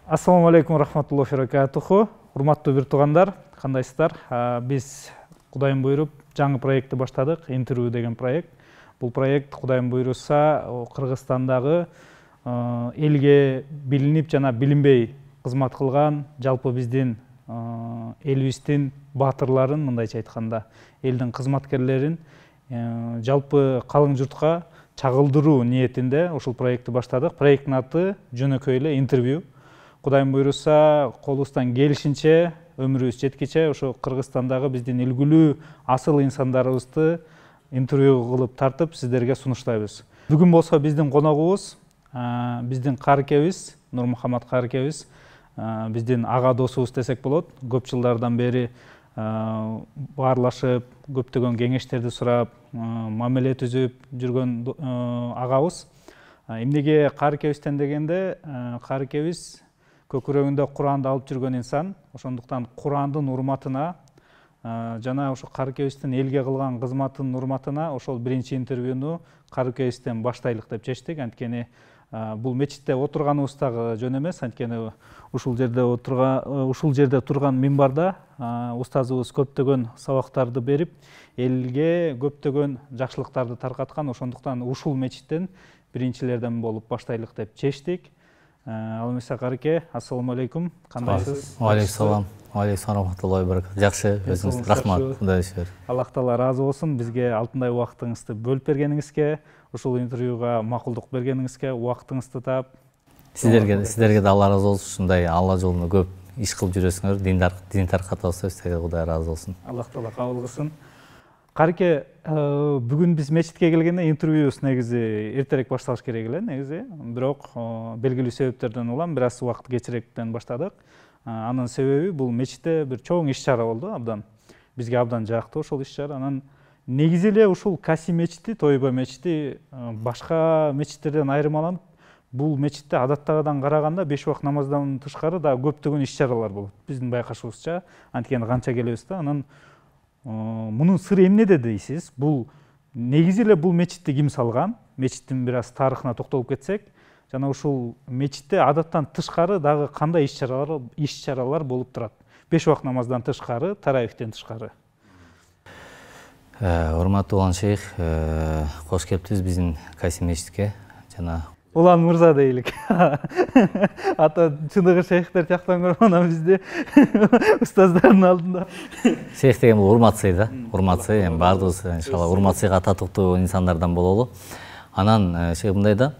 Ассаламу алейкум рахматуллахи баракатуху. Урматтуу бир туугандар, кандайсыздар? Биз Кудайым буйруп жаңы проектти баштадык, интервью деген проект. Бул проект Кудайым буйруса Кыргызстандагы элге билинип жана билинбей кызмат кылган, жалпы биздин элибиздин баатырларын, мындайча айтканда, элдин кызматкерлерин жалпы калың журтка чагылдыруу ниетинде ушул проектти баштадык. Проекттин аты жөнөкөй эле интервью. Кудайым буйруса колубуздан келишинче, өмүрүбүз жеткиче ошо Кыргызстандагы биздин үлгүлүү асыл инсандарыбызды интервью кылып тартып сиздерге сунуштайбыз. Бүгүн болсо биздин коногубуз биздин Карыкебиз, Нурмухаммад Карыкебиз, биздин ага досубуз десек болот. Көп жылдардан бери баарлашып, көптөгөн кеңештерди сурап, мамиле түзүп жүргөн агабыз. Эмнеге Карыкебизден дегенде, Карыкебиз көкүрөгүндө Куранды алып жүргөн инсан, ошондуктан Курандын урматына жана ошо Карыкебиздин элге кылган кызматынын урматына ошол биринчи интервьюну Карыкебизден баштайлык деп чечтик. Анткени бул мечитте отурганыбыз дагы жөн эмес, анткени ушул жерде турган минбарда устазыбыз көптөгөн сабактарды берип, элге көптөгөн жакшылыктарды таркаткан. Ошондуктан ушул мечиттен биринчилерден болуп баштайлык деп чечтик. Ал эмесе Карыке, ассаламу алейкум. Кандайсыз? Алейкум рахматуллахи баракатух. Жакшы, өзүңүз рахмат. Кудай шүгүр. Аллах таала ыраазы болсун. Бизге алтындай убактыңызды бөлүп бергениңизге, ушул интервьюга макулдук бергениңизге, убактыңызды таап. Сиздерге да Алла ыраазы болсун. Ушундай Алла жолунда көп иш кылып жүрөсүңөр. Дин таркатабыз, сизге Кудай ыраазы болсун. Аллах таала кабыл кылсын. Карыке, бүгүн биз мечитке келгенде интервьюбуз негизи эртерээк башталыш керек эле, негизи. Бирок белгилүү себептерден улам бир аз убакыт кечирээктен баштадык. Анын себеби бул мечитте бир чоң иш-чара болду, абдан. Бизге абдан жакты ошол иш-чара. Анан негизи эле ушул Каси мечити, Тойба мечити башка мечиттерден айырмаланып, бул мечитте адаттагыдан караганда 5 убакыт намаздан тышкары да көптөгөн иш-чаралар болот. Биздин байкашыбызча, анткени канча келебиз да, анан мунун сыры эмнеде дейсиз? Бул негизи эле бул мечитти ким салган? Мечиттин бир аз тарыхына токтолуп кетсек, жана ушул мечитте адаттан тышкары дагы кандай иш-чаралар болуп турат? 5 убакыт намаздан тышкары, таравихтен тышкары. Урматтуу улан шейх, кош келиптиз биздин Каси мечитке. Жана Улан мырза дейлик. Ата чыныгы шейхтер жактан көрүп, анан бизде устаздардын алдында. Шейх деген бул урмат сый да. Урмат сый, эми баардыгыбыз иншалла урмат сыйга татыктуу инсандардан бололу. Анан шейх мындай да,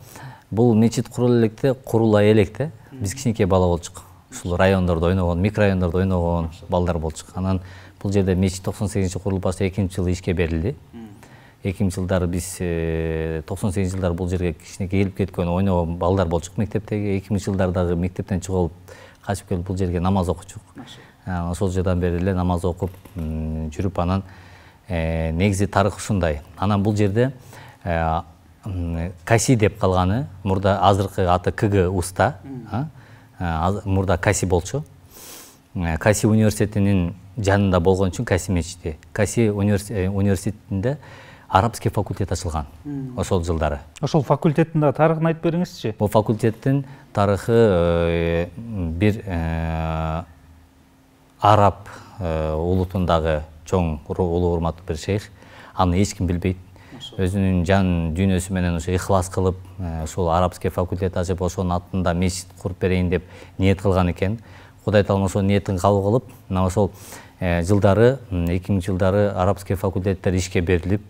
бул мечит курула электе биз кичинекей бала болчук. Ушул райондордо ойногон, микрорайондордо ойногон балдар болчук. Анан бул жерде мечит 98-жылы курулуп баштап 2-жылы ишке берилди. 2000-жылдары биз 98-жылдары бул жерге кичинекей келип кеткен ойногон балдар болчук мектептеги. 2000-жылдардагы мектептен чыгып качып келип бул жерге намаз окучук. Ошол жерден бери эле намаз окуп жүрүп, анан негизи тарых ушундай. Анан бул жерде Каси деп калганы, мурда азыркы аты КГ уста, мурда Каси болчу. Каси университетинин жанында болгон үчүн Каси мечити. Каси университетинде арабский факультет ачылган ошол жылдары. Ошол факультеттин да тарыхын айтып бериңизчи. Бул факультеттин тарыхы бир араб улутундагы чоң улуу урматтуу бир шейх. Аны эч ким билбейт. Өзүнүн жан дүйнөсү менен ошо ихлас кылып, ошол арабский факультет ачып, ошонун атында мечит куруп берейин деп ниет кылган экен. Кудай таалам ошол ниетин кабыл кылып, мына ошол жылдары 2000-жылдары арабский факультеттер ишке берилип,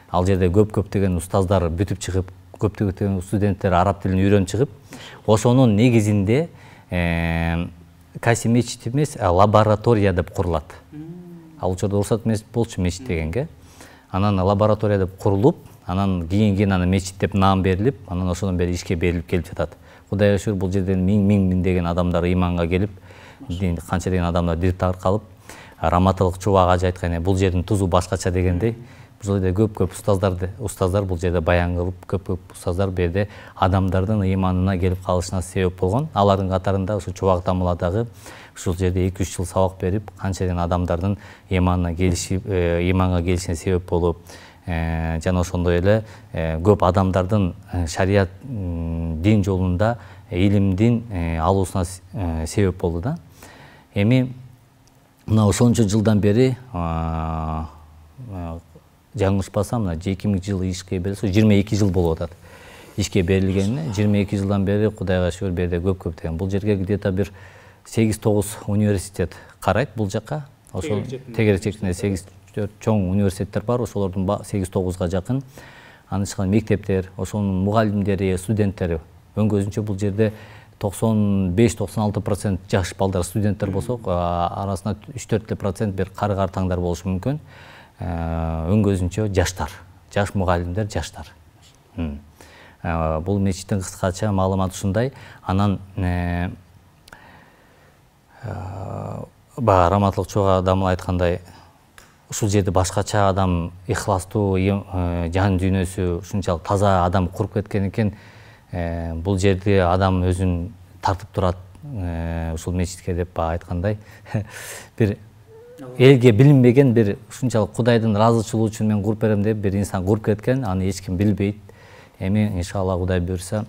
ал жерде көптөгөн устаздар бүтүп чыгып, көптөгөн студенттер араб тилин үйрөнүп чыгып, ошонун негизинде Каси мечит эмес, лаборатория деп курулат. Ал учурда уруксат эмес болчу мечит дегенге. Анан лаборатория деп курулуп, анан кийин аны мечит деп наам берилип, анан ошондон бери ишке берилип келип жатат. Кудайга шүгүр, бул жерден миңдеген адамдар иманга келип, канча деген адамдар дип таркалып, раматылык чубак ажы айткан, бул жердин тузу башкача дегендей, бул жерде көп устаздар бул жерде баян кылып, көп устаздар берде адамдардын иманына келип калышына себеп болгон. Алардын катарында ушу чубак тамыладагы ушул жерде 2-3 жыл сабак берип, канча деген адамдардын иманга келишине себеп болуп, жана ошондой эле көп адамдардын шарият дин жолунда илимдин алуусуна себеп болду да. Эми мына ошончо жылдан бери жаңылышпасам, мына 2000 жыл ишке берилсе, 22 жыл болуп атат. Ишке берилгенине 22 жылдан бери Кудайга шүгүр берде көп деген. Бул жерге где-то бир 8-9 университет карайт бул жакка. Ошол тегеречекте 8-4 чоң университеттер бар, ошолордун 8-9га жакын. Анын ичинде мектептер, ошонун мугалимдери, студенттери өңгөзүнчө бул жерде 95-96% жаш балдар студенттер болсо, арасында 3-4% бир кары-картаңдар болушу мүмкүн. Өңгөзүнчө жаштар, жаш мугалимдер, жаштар. Бул мечиттин кыскача маалыматы ушундай. Анан баягы Раматылык чогуу адам айткандай, ушул жерде башкача адам, ихластуу жан дүйнөсү ушунчалык таза адам куруп кеткен экен. Бул жерде адам өзүн тартып турат ушул мечитке деп айткандай. Бир элге билинбеген бир ушунчалык Кудайдын ыраазычылыгы үчүн мен куруп берем деп бир инсан куруп кеткен, аны эч ким билбейт. Эми иншалла Кудай буйрса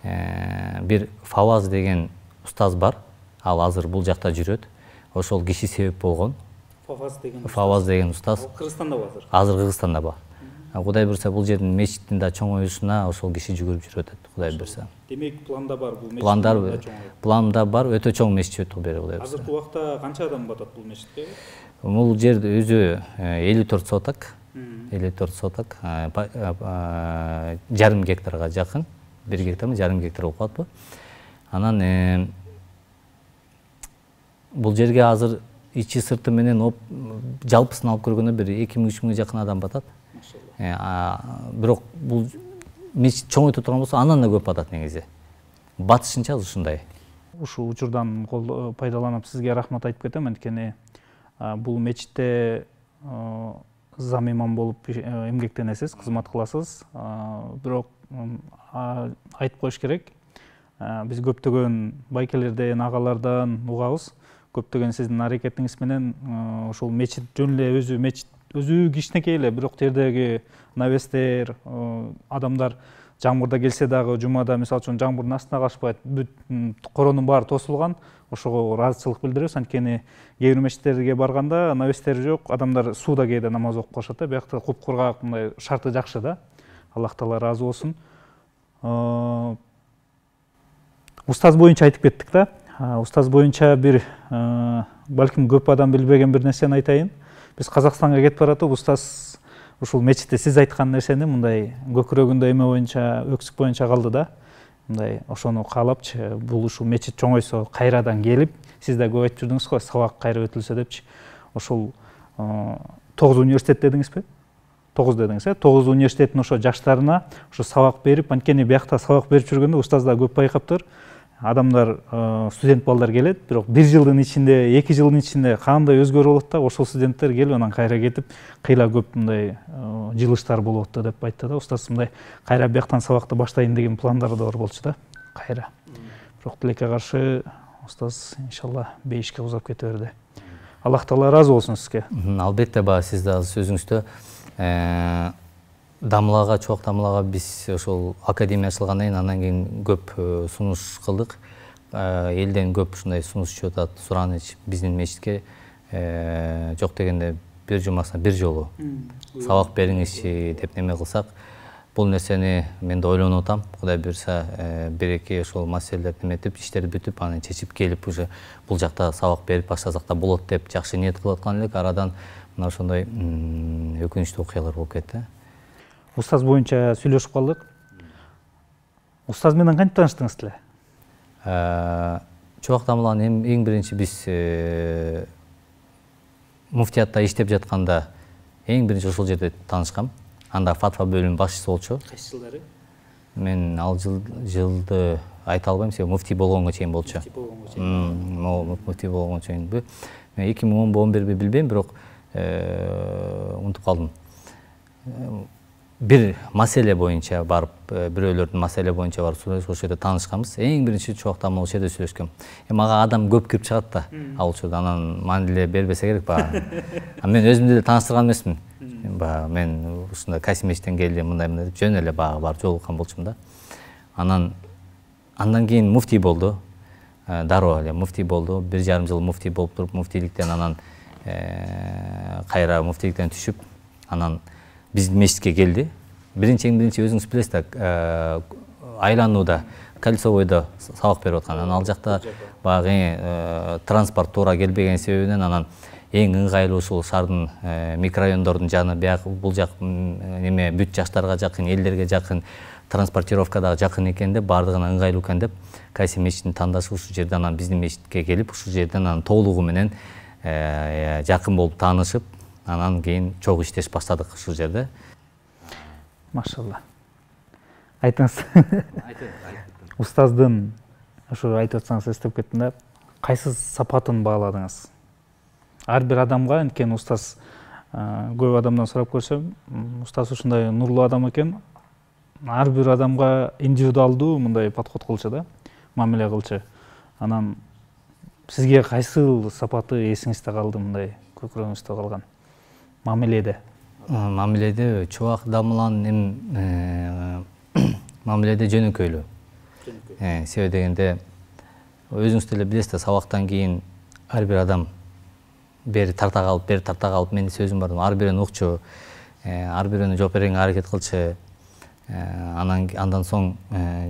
бир Фаваз деген устаз бар. Ал азыр бул жакта жүрөт. Ошол киши себеп болгон. Фаваз деген устаз. Кыргызстанда бар азыр. Азыр Кыргызстанда бар. Кудай буйрса бул жердин мечиттин да чоңоюшуна ошол киши жүгүрүп жүрөт, Кудай буйрса. Демек планда бар бул мечит. Планда бар, өтө чоң мечит өтүп бери Кудай буйрса. Азыркы убакта канча адам батат бул мечитке? Бул жерде өзү 54 соток. 54 соток, жарым гектарга жакын, 1 гектармы, жарым гектар болуп калат бу. Анан бул жерге азыр ичи сырты менен жалпысын алып көргөндө бир 2000-3 миңге жакын адам батат. Бирок бул мечит чоңойто турган болсо, андан да көп батат негизи. Батышынча ушундай. Ушул учурдан пайдаланып сизге рахмат айтып кетем, анткени бул мечитте зам имам болуп эмгектенесиз, кызмат кыласыз. Бирок айтып коюш керек, биз көптөгөн байкелерден, агалардан угабыз. Көптөгөн сиздин аракетиңиз менен ушул мечит жөн эле өзү кичинекей эле, бирок тердеги навестер, адамдар жамгырда келсе дагы жумада мисалы үчүн жамгырдын астына калышпайт, бүт коронун баары тосулган. Ошого ыраазычылык билдиребиз, анткени кээ бир мечиттерге барганда навестер жок, адамдар сууда кээде намаз окуп калышат да. Биякта куп-кургак, мындай шарты жакшы да. Аллах таала ыраазы болсун. Устаз боюнча айтып кеттик да. Устаз боюнча бир балким көп адам билбеген бир нерсени айтайын. Биз Казакстанга кетип баратып, устаз ушул мечитте сиз айткан нерсени мындай көкүрөгүндө эме боюнча, өксүк боюнча калды да. Мындай ошону каалапчы, бул ушул мечит чоңойсо, кайрадан келип, сиз да көп айтып жүрдүңүз го, сабак кайра өтүлсө депчи. Ошол 9 университет дедиңизби? 9 дедиңиз, 9 университеттин ошо жаштарына ошо сабак берип, анткени биякта сабак берип жүргөндө устаздар көп байкаптыр. Адамдар, студент балдар келет, бирок 1 жылдын ичинде, 2 жылдын ичинде кандай өзгөрүү болот да, ошол студенттер келип анан кайра кетип, кыйла көп мындай жылыштар болуп атты деп айтты да. Устаз мындай кайра бияктан сабакты баштайын деген пландары да бар болчу да, кайра. Бирок тилекке каршы устаз иншалла бейишке узап кете берди. Аллах таала ыраазы болсун сизге. Албетте, баягы сиз да сөзүңүздө дамлага, чоң дамлага биз ошол академия ачылгандан кийин андан кийин көп сунуш кылдык. Элден көп ушундай сунуш түшүп атат, сураныч биздин мечитке жок дегенде бир жумасына бир жолу сабак бериңизчи деп неме кылсак, бул нерсени мен да ойлонуп атам. Кудай буйрса бир-эки ошол маселелерди неметип, иштери бүтүп, аны чечип келип уже бул жакта сабак берип баштасак да болот деп жакшы ниет кылып аткан элек. Арадан мына ошондой өкүнүчтүү окуялар болуп кетти. Устаз боюнча сүйлөшүп калдык. Устаз менен кантип тааныштыңыз эле? Чубак дамланын эң биринчи биз муфтиятта иштеп жатканда эң биринчи ошол жерде таанышкам. Анда фатва бөлүмүнүн башчысы болчу. Кайсы жылдары? Мен ал жылды айта албайм, себеби муфтий болгонго чейин болчу. Муфтий болгонго чейинби? Мен 2010-11 билбейм, бирок унутуп калдым. бир маселе боюнча барып, бирөөлөрдүн маселе боюнча барып ошол жерде таанышканбыз. Эң биринчи чубакта ошол жерде сүйлөшкөм. Мага адам көп кирип чыгат да, ал учурда анан маанилүү бербесе керек баягы. Мен өзүмдү деле тааныштырган эмесмин. Баягы мен ушундай Касимовичтен келдим, мындай деп жөн эле баягы барып жолуккан болчумун да. Андан кийин муфтий болду. Дароо эле муфтий болду. 1,5 жыл муфтий болуп туруп, муфтийликтен анан кайра муфтийликтен түшүп, анан биздин мечитке келди. Биринчи өзүңүз билесиз да, айланууда, Кольцовойдо сабак берип аткан. Анан ал жакта баягы транспорт туура келбеген себебинен анан эң ыңгайлуу ушул шаардын микрорайондордун жаны бул жак неме бүт жаштарга жакын, элдерге жакын, транспортировка дагы жакын экен деп, бардыгына ыңгайлуу экен деп, кайсы мечиттин тандашып ушул жерден анан биздин мечитке келип, ушул жерден анан толугу менен жакын болуп таанышып, анан кийин чогуу иштеш баштадык ушул жерде. Машалла. Айтыңыз. Устаздын ушу айтып атсаңыз эстеп кеттим да, кайсы сапатын бааладыңыз? Ар бир адамга, анткени устаз көп адамдан сурап көрсөм, устаз ушундай нурлуу адам экен. Ар бир адамга индивидуалдуу мындай подход кылчу да, мамиле кылчу. Анан сизге кайсы сапаты эсиңизде калды, мындай көкүрөгүңүздө калган? Мамиледе. Мамиледе чубак дамылан мамиледе жөнөкөйлүү. Себеби дегенде өзүңүз деле билесиз да, сабактан кийин ар бир адам бери тарта калып, менин сөзүм бар, ар бирин укчу, ар бирөөнү жооп берүүгө аракет кылчу. Андан соң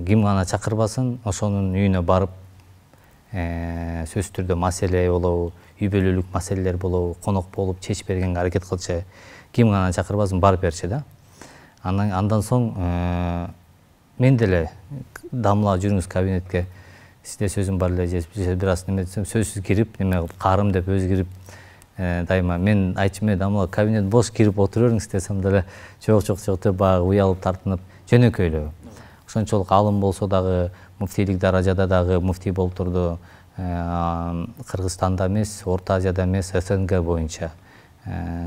ким гана чакырбасын, ошонун үйүнө барып, сөзсүз түрдө маселе болобу, үй бүлөлүк маселелер болобу, конок болуп чечип бергенге аракет кылчу. Ким гана чакырбасын, барып берчи да. Андан соң мен деле дамыла жүрүңүз кабинетке, сизде сөзүм бар эле, же бир аз неме десем, сөзсүз кирип, неме каарым деп өзү кирип, дайыма мен айтчумун, дамыла кабинет бош, кирип отура бериңиз десем деле, жок деп баягы уялып тартынып, жөнөкөйлүү. Ошончолук алым болсо дагы, муфтийлик даражада дагы муфтий болуп турду. Кыргызстанда эмес, Орто Азияда эмес, СНГ боюнча.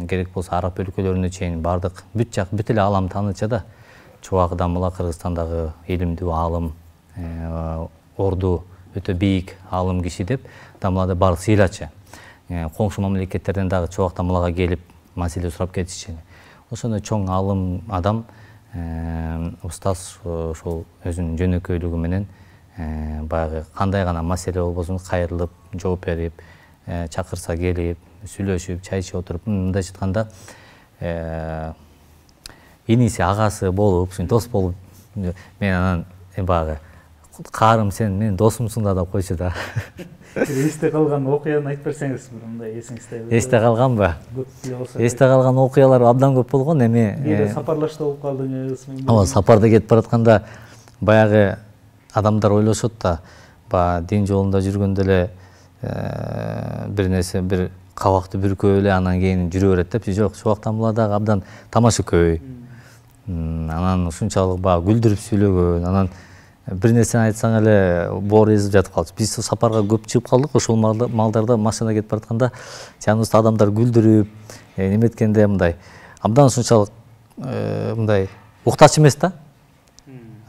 Керек болсо араб өлкөлөрүнө чейин бардык, бүт эле алам тааныча да. Чубак дамыла Кыргызстандагы илимдүү алым, орду өтө бийик алым киши деп дамылада бардык сыйлачы. Коңшу мамлекеттерден дагы чубак дамылага келип, маселе сурап кетишчи. Ошондой чоң алым адам, устаз ошол өзүнүн жөнөкөйлүгү менен баягы кандай гана маселе болбосун кайрылып, жооп берип, чакырса келип, сүйлөшүп, чай ичип отуруп, мындайча айтканда иниси, агасы болуп, дос болуп, мен анан баягы каарым, сен менин досумсуң да деп койчу да. Эсте калган окуяны айтып берсеңиз, мындай эсиңизде. Эсте калганбы? Эсте калган окуялар абдан көп болгон. Кээде сапарлашта болуп калдыңыз. Ооба, сапарда кетип баратканда баягы адамдар ойлошот да, баягы дин жолунда жүргөндө эле бир нерсе, бир кабакты бүркөп эле анан кийин жүрө берет депчи. Жок, чубак дамыладагы абдан тамашакөй. Анан ушунчалык баягы күлдүрүп сүйлөгөн, анан бир нерсени айтсаң эле боор эзип жатып калчу. Биз сапарга көп чыгып калдык, ошол малдарда машинада кетип баратканда жаныбызда адамдар күлдүрүп, неметкенде мындай абдан ушунчалык мындай уктач эмес да.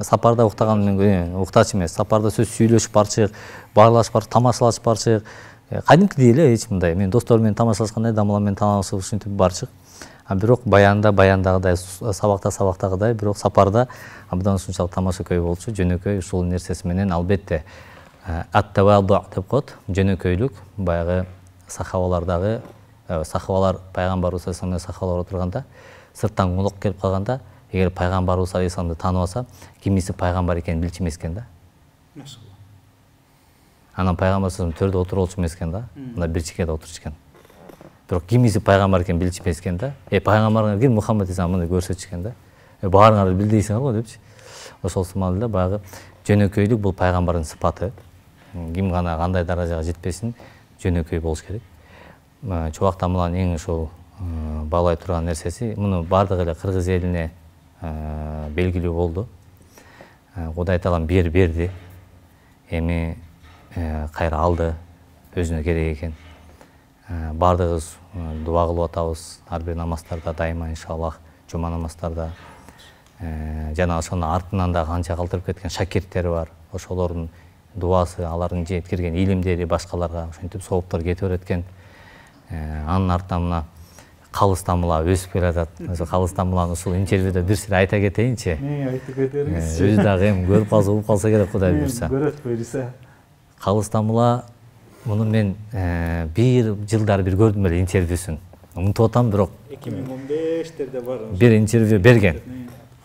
Сапарда уктаган мен уктач эмес. Сапарда сөз сүйлөшүп барчык, баарлашып барчык, тамашалашып барчык. Кадимкидей эле эч мындай. Мен досторум менен тамашалашкандай, дамыла менен тамашалашып ушинтип барчык. Бирок баяндагыдай, сабактагыдай, бирок сапарда абдан ушунчалык тамашакөй болчу, жөнөкөй. Ушул нерсеси менен албетте ат-таваду деп коет, жөнөкөйлүк. Баягы сахабалардагы, сахабалар пайгамбарыбыз саллаллаху алейхи сахабалар отурганда, сырттан конок келип калганда, эгер пайгамбарыбыз алейхисаламды тааныбаса, кимиси пайгамбар экенин билчү эмес экен да. Машалла. Анан пайгамбар төрдө отуруп алчу эмес экен да. Мында бир чекеде отурчу экен. Бирок кимиси пайгамбар экенин билчү эмес экен да. Пайгамбарыңар ким? Мухаммад эсен мындай көрсөтчү экен да. Баарыңар билдейсиңер го депчи. Ошол сымал эле баягы жөнөкөйлүк бул пайгамбардын сыпаты. Ким гана кандай даражага жетпесин, жөнөкөй болуш керек. Чубак дамыланын эң ошол баалай турган нерсеси, муну бардык эле кыргыз элине белгилүү болду. Кудай таалам берди. Эми кайра алды, өзүнө керек экен. Бардыгыбыз дуа кылып атабыз, ар бир намаздарда дайыма иншаллах, жума намаздарда. жана ошонун артынан да канча калтырып кеткен шакирттери бар. Ошолордун дуасы, алардын жеткирген илимдери башкаларга ошентип сооптор кете берет экен. Анын артынан мына Калыс Тамыла өсүп келатат. Ошо Калыс Тамыланы ушул интервьюда бир сире айта кетейинчи. Айтып кетериңиз. Өзү дагы эми көрүп калса, угуп калса керек, Кудай буйрса. Көрөт буйрса. Калыс Тамыла муну мен бир жылдары бир көрдүм эле интервьюсун. Унутуп атам, бирок 2015-терде бар. Бир интервью берген.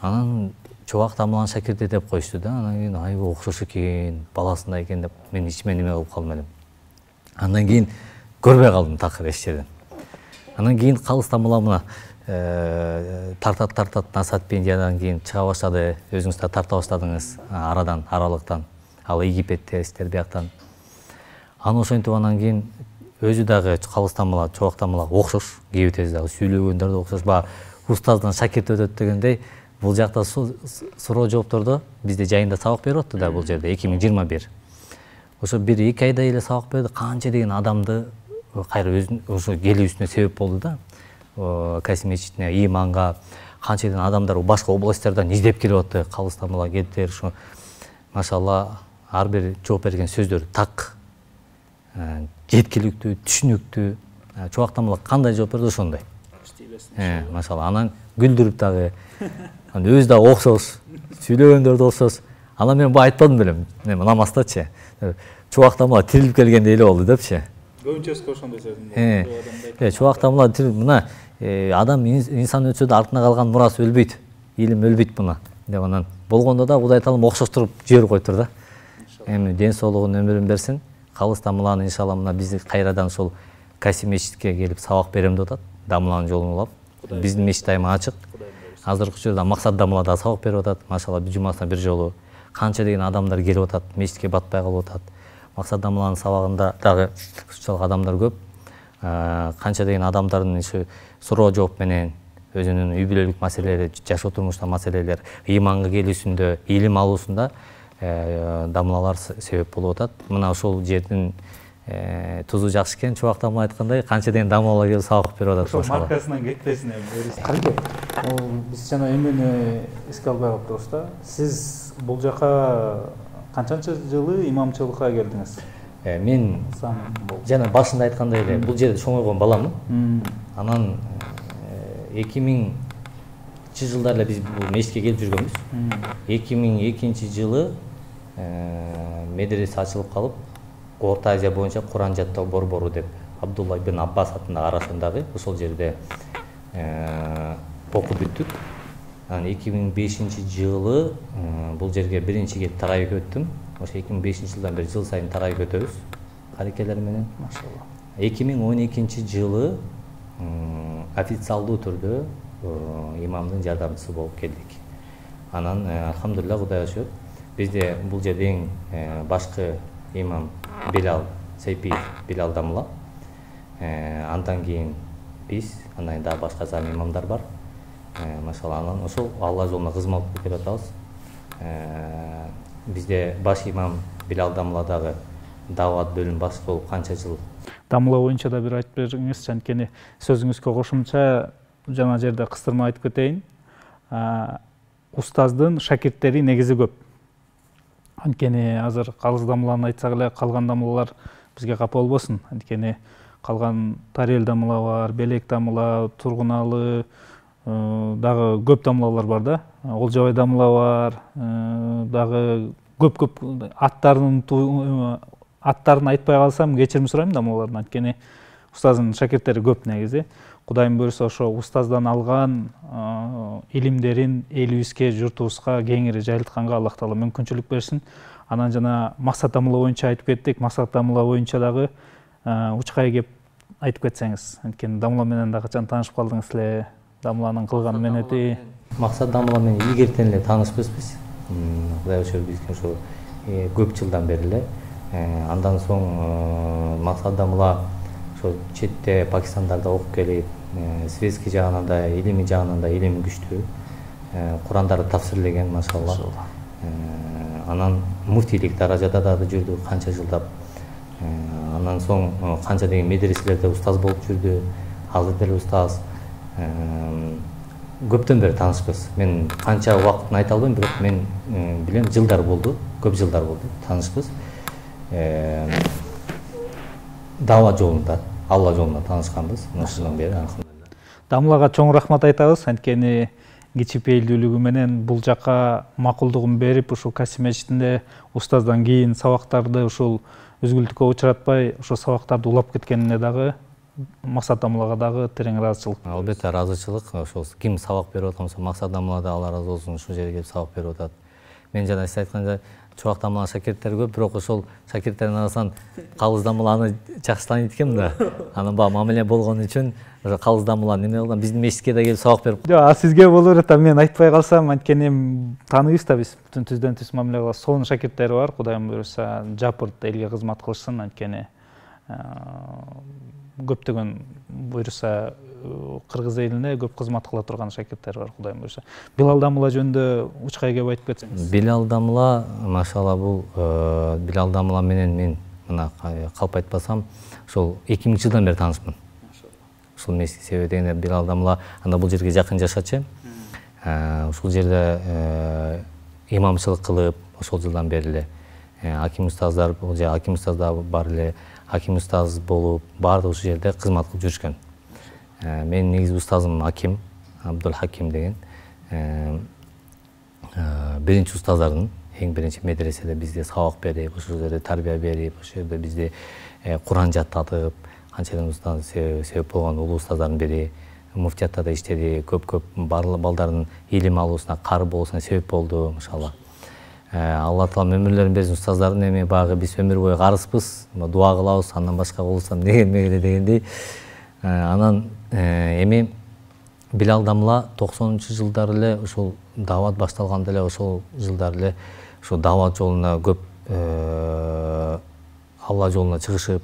Анан Чубак Тамыланын шакирти деп коюшту да. Анан кийин айбы окшош экен, баласындай экен деп мен ичиме неме кылып калдым элем. Андан кийин көрбөй калдым такыр эч жерден. Анан кийин Калыс Тамыла мына тартат Насатпендиядан кийин чыга баштады. Өзүңүз да тарта баштадыңыз арадан, аралыктан. Ал Египетте, сиздер бияктан. Аны ошентип анан кийин өзү дагы Калыс Тамыла, Чубак Тамыла окшош, кээбитеси дагы сүйлөгөндөр да окшош. Баягы устаздан шакирт өтөт дегендей, бул жакта суроо жооптордо бизде жайында сабак берип атты да бул жерде 2021. Ошо 1-2 айда эле сабак берди, канча деген адамды кайра өзүнүн ошо келүүсүнө себеп болду да. Касим мечитине, иманга канча деген адамдар башка областьтардан издеп келип атты. Калыс Тамыла келдилер, ошо машалла ар бир жооп берген сөздөр так, жеткиликтүү, түшүнүктүү. Чубак Тамыла кандай жооп берди ошондой. Машалла анан күлдүрүп дагы, өзү да окшош, сүйлөгөндөр да окшош. Анан мен бу айтпадым белем, эми намастачы. Чубак Тамыла тирилип келгендей эле болду депчи. Көбүнчөсү ошондой сөзүм болду. Чубак Тамыла мына адам инсан өтсө да артына калган мурасы өлбөйт, илим өлбөйт мына деп анан болгондо да Кудай таалам окшоштуруп жиберип коюптур да. Эми ден соолугун, өмүрүн берсин. Калыс Тамыланы иншалла мына биз кайрадан ошол Касим мечитке келип сабак берем деп атат. Дамыланын жолун улап. Биздин мечит айыма ачык. Азыркы учурда Максат Дамылада сабак берип атат. Машалла жумасына бир жолу канча деген адамдар келип атат, мечитке батпай калып атат. Максат Дамыланын сабагында дагы ушунчалык адамдар көп. Канча деген адамдардын ошо суроо жооп менен өзүнүн үй бүлөлүк маселелери, жашоо турмушта маселелер, ыйманга келүүсүндө, илим алуусунда дамылалар себеп болуп атат. Мына ошол жердин тузу жакшы экен. Чубак Тамыла айткандай, канча деген дамылалар келип сабак берип атат. Ошол маркасынан кетпесин эми. Кайда? Биз жана эмени эске албай калыптырбыз да. Сиз бул жака канчанчы жылы имамчылыкка келдиңиз? Мен жана башында айткандай эле бул жерде чоңойгон баламын. Анан 2000 жылдары эле биз бул мечитке келип жүргөнбүз. 2002 жылы медресе ачылып калып, Орто Азия боюнча Куран жаттоо борбору деп Абдулла ибн Аббас атындагы арасындагы ошол жерде окуп бүттүк. Анан 2005 жылы бул жерге биринчи келип тарайып өттүм. Ошо 2005 жылдан бери жыл сайын тарайып өтөбүз карекелер менен. Машалла. 2012 жылы официалдуу түрдө имамдын жардамчысы болуп келдик. Анан алхамдулилла Кудайга шүгүр. Бизде бул жерде эң башкы имам Билал Сейпиев, Билал Дамыла. Андан кийин биз, андан кийин дагы башка зам имамдар бар. Машалла, анан ошол Алла жолуна кызмат кылып келе атабыз. Бизде баш имам Билал Дамыла дагы дават бөлүм башчы болуп канча жыл. Дамыла боюнча да бир айтып бериңиз, анткени сөзүңүзгө кошумча жана жерде кыстырма айтып кетейин. Устаздын шакирттери негизи көп. Анткени азыр Калыс Дамыланы айтсак эле, калган дамылалар бизге капа болбосун. Анткени калган Тарел Дамыла бар, Белек Дамыла, Тургуналы дагы көп дамылалар бар да. Олжобай Дамыла бар, дагы көп аттарын айтпай калсам кечирим сурайм дамылалардан. Анткени устаздын шакирттери көп негизи. Кудайым буйрса ошо устаздан алган илимдерин элибизге, журтубузга кеңири жайылтканга Аллах таала мүмкүнчүлүк берсин. Анан жана Максат Дамыла боюнча айтып кеттик. Максат Дамыла боюнча дагы учкай кеп айтып кетсеңиз. Анткени Дамыла менен да качан таанышып калдыңыз эле, Дамыланын кылган менети. Максат Дамыла менен илгертен эле таанышпызбыз. Кудайга шүгүр бизге ошо көп жылдан бери эле. Андан соң Максат Дамыла ошо четте Пакистандарда окуп келип, светский жагынан да, илимий жагынан да илими күчтүү. Курандарды тафсирлеген, машалла. Анан муфтийлик даражада дагы жүрдү канча жылдап. Андан соң канча деген медреселерде устаз болуп жүрдү. Азыр деле устаз. көптөн бери таанышпыз. Мен канча убакытын айта албайм, бирок мен билем жылдар болду, көп жылдар болду таанышпыз. Даава жолунда, Алла жолунда таанышканбыз. Ошондон бери Дамлага чоң рахмат айтабыз, анткени кичипейилдүүлүгү менен бул жака макулдугун берип, ушул Касим мечитинде устаздан кийин сабактарды ушул үзгүлтүккө учуратпай, ошол сабактарды улап кеткенине дагы Максат Дамлага дагы терең ыраазычылык. Албетте ыраазычылык. Ошол ким сабак берип атканса, Максат Дамла да Алла ыраазы болсун, ушул жерге келип сабак берип атат. Мен жана сиз айткандай Чубак Дамла шакирттери көп, бирок ошол шакирттердин арасынан Калыс Дамланы жакшы тааныйт экенмин да. Анан баягы мамиле болгон үчүн ошо Калыс Дамла неме кылган, биздин мечитке да келип сабак берип. Жок, сизге болор эт, мен айтпай калсам, анткени тааныйбыз да биз. Бүтүн түздөн түз мамиле кылабыз. Сонун шакирттери бар, Кудайым буйруса, жапырт элге кызмат кылышсын, анткени көптөгөн буйруса кыргыз элине көп кызмат кыла турган шакирттер бар, Кудайым буйруса. Билал Дамла жөнүндө учкай кеп айтып кетсеңиз. Билал Дамла, машалла, бул Билал Дамла менен мен мына калп айтпасам, ошол 2000 жылдан бери таанышмын. Ушул мечит себеби дегенде Билал Дамла анда бул жерге жакын жашачы. Ушул жерде имамчылык кылып, ошол жылдан бери эле аким устаздар, бул же аким устаздар бар эле, аким устаз болуп, баардыгы ушул жерде кызмат кылып жүрүшкөн. Менин негизи устазым Аким, Абдул Хаким деген. Биринчи устаздардын, эң биринчи медреседе бизде сабак берип, ошол жерде тарбия берип, ошол жерде бизди Куран жаттатып, канчалык устаз себеп болгон улуу устаздардын бири. Муфтиятта да иштеди, көп балдардын илим алуусуна, кары болуусуна себеп болду, машалла. Алла таала өмүрлөрүн берсин устаздардын, эми багы биз өмүр бою карыспыз, дуа кылабыз, андан башка болсам дегенмегиле дегендей. Анан эми Билал Дамла 90-жылдары эле ушул даават башталганда эле ошол жылдары эле ушул даават жолуна көп Алла жолуна чыгышып,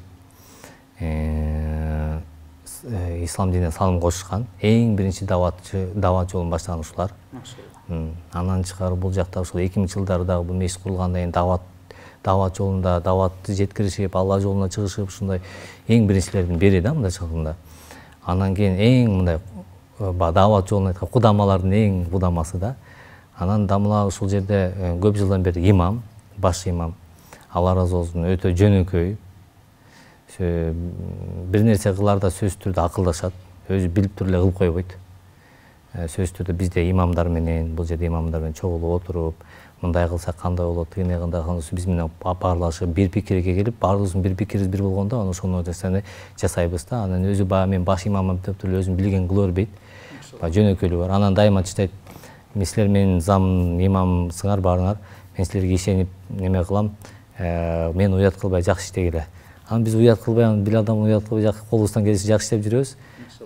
ислам динине салым кошушкан. Эң биринчи даават жолун баштаган ушулар. Анан чыгары бул жакта ушул 2000-жылдары дагы бул мечит курулгандан кийин даават жолунда дааватты жеткиришип, Алла жолуна чыгышып, ушундай эң биринчилердин бири да мындай чыкканда. Анан кийин эң мындай даават жолун айткан кудамалардын эң кудамасы да. Анан Дамла ушул жерде көп жылдан бери имам, баш имам. Алла ыраазы болсун, өтө жөнөкөй. Бир нерсе кыларда сөзсүз түрдө акылдашат, өзү билип туруп эле кылып койбойт. Сөзсүз түрдө бизде имамдар менен, бул жерде имамдар менен чогулуп отуруп, мындай кылсак кандай болот, тигине кандай кылсак, биз менен баарлашып, бир пикирге келип, баарыбыздын бир пикирибиз бир болгондо, анан ошону жасайбыз да. Анан өзү баягы мен баш имамым деп туруп өзүн билген кыла бербейт. Жөнөкөйлүгү бар. Анан дайыма чыдайт. Мен силер менин зам имамсыңар баарыңар, мен силерге ишенип неме кылам, мен уят кылбай жакшы иштегиле. Анан биз уят кылбай, Билал Дамла уят кылбай колубуздан келиши жакшы иштеп жүрөбүз.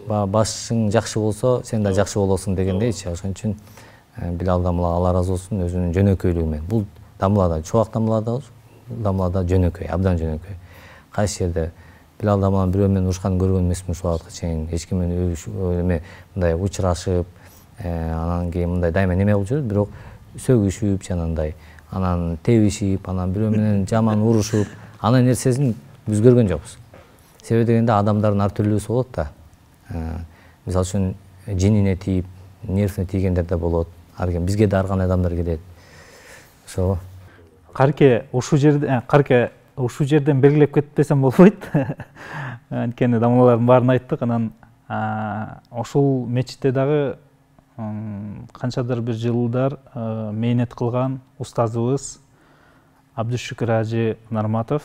Башың жакшы болсо, сен да жакшы болосуң дегендейчи. Ошон үчүн Билал Дамла Алла ыраазы болсун өзүнүн жөнөкөйлүгү менен. Бул Дамлада, Чубак Дамлада жөнөкөй, абдан жөнөкөй. Кайсы жерде Билал Дамланын бирөө менен урушканын көргөн эмесмин ушул убакытка чейин. Эч ким менен мындай учурашып, анан кийин мындай дайыма неме кылып жүрөт, бирок сөгүшүп жанагындай, анан тебишип, анан бирөө менен жаман урушуп, анын нерсесин биз көргөн жокпуз. Себеби дегенде адамдардын ар түрлүүсү болот да. Мисалы үчүн жинине тийип, нервине тийгендер да болот. Бизге да ар кандай адамдар келет. Ошо. Карке ушул жерден белгилеп кетпесем болбойт. Анткени Дамлалардын баарын айттык. Анан ошол мечитте дагы канчадыр бир жылдар мээнет кылган устазыбыз Абдушүкүр Ажы Нарматов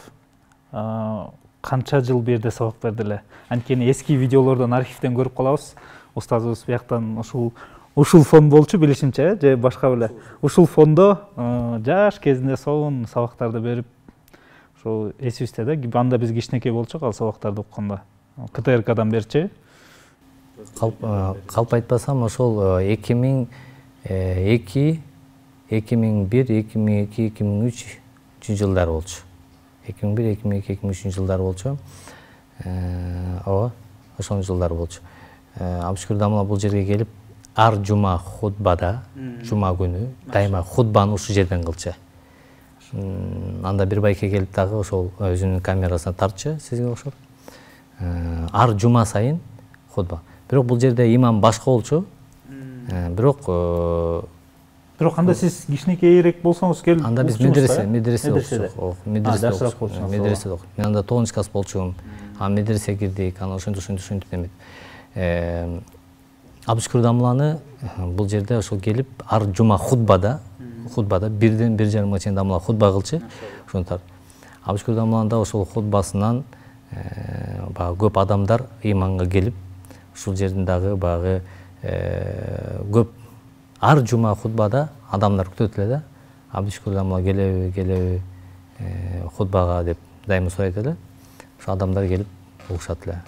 канча жыл бу жерде сабак берди эле. Анткени эски видеолордон, архивден көрүп калабыз. Устазыбыз бияктан ушул фон болчу билишимче, же башка беле. Ушул фондо жаш кезинде сонун сабактарды берип, ошол эсибизде да. Анда биз кичинекей болчук ал сабактарды укканда. КТРКдан берчи. Калп айтпасам, ошол 2002, 2001, 2002, 2003 жылдар болчу. 2001, 2002, 2003 жылдар болчу. Ооба, ошол жылдар болчу. Абдушүкүр Дамла бул жерге келип, ар жума хутбада, жума күнү дайыма хутбаны ушул жерден кылчу. Анда бир байке келип дагы ошол өзүнүн камерасына тартчу, сизге окшоп. Ар жума сайын хутба. Бирок бул жерде имам башка болчу. Бирок анда сиз кичинекейирээк болсоңуз келип анда биз медреседе окуп, медреседе окуп. Мен анда 9 класс болчумун. Медресе кирдик, анан ошентип эмет. Абдышкүр дамланы бул жерде ошол келип ар жума хутбада бирден 1,5 чейин дамла хутба кылчу. Ошонтор Абдышкүр дамланында ошол хутбасынан баягы көп адамдар ыйманга келип, ушул жердин дагы баягы көп ар жума хутбада адамдар күтөт эле да. Абдышкүр дамла келеби хутбага деп дайыма сурайт эле. Ошо адамдар келип угушат эле.